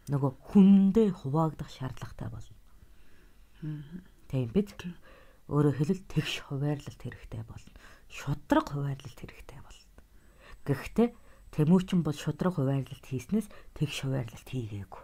нөгөө хүндээ хуваагдах шаардлагатай болно. Тийм биз? Өөрөөр хэлбэл тэгш хуваарлалт хэрэгтэй болно. Шудраг хуваарлалт хэрэгтэй болно. Гэхдээ Тэмүүчин бол шудраг хуваарлалт хийснээс тэгш хуваарлалт хийгээгүй.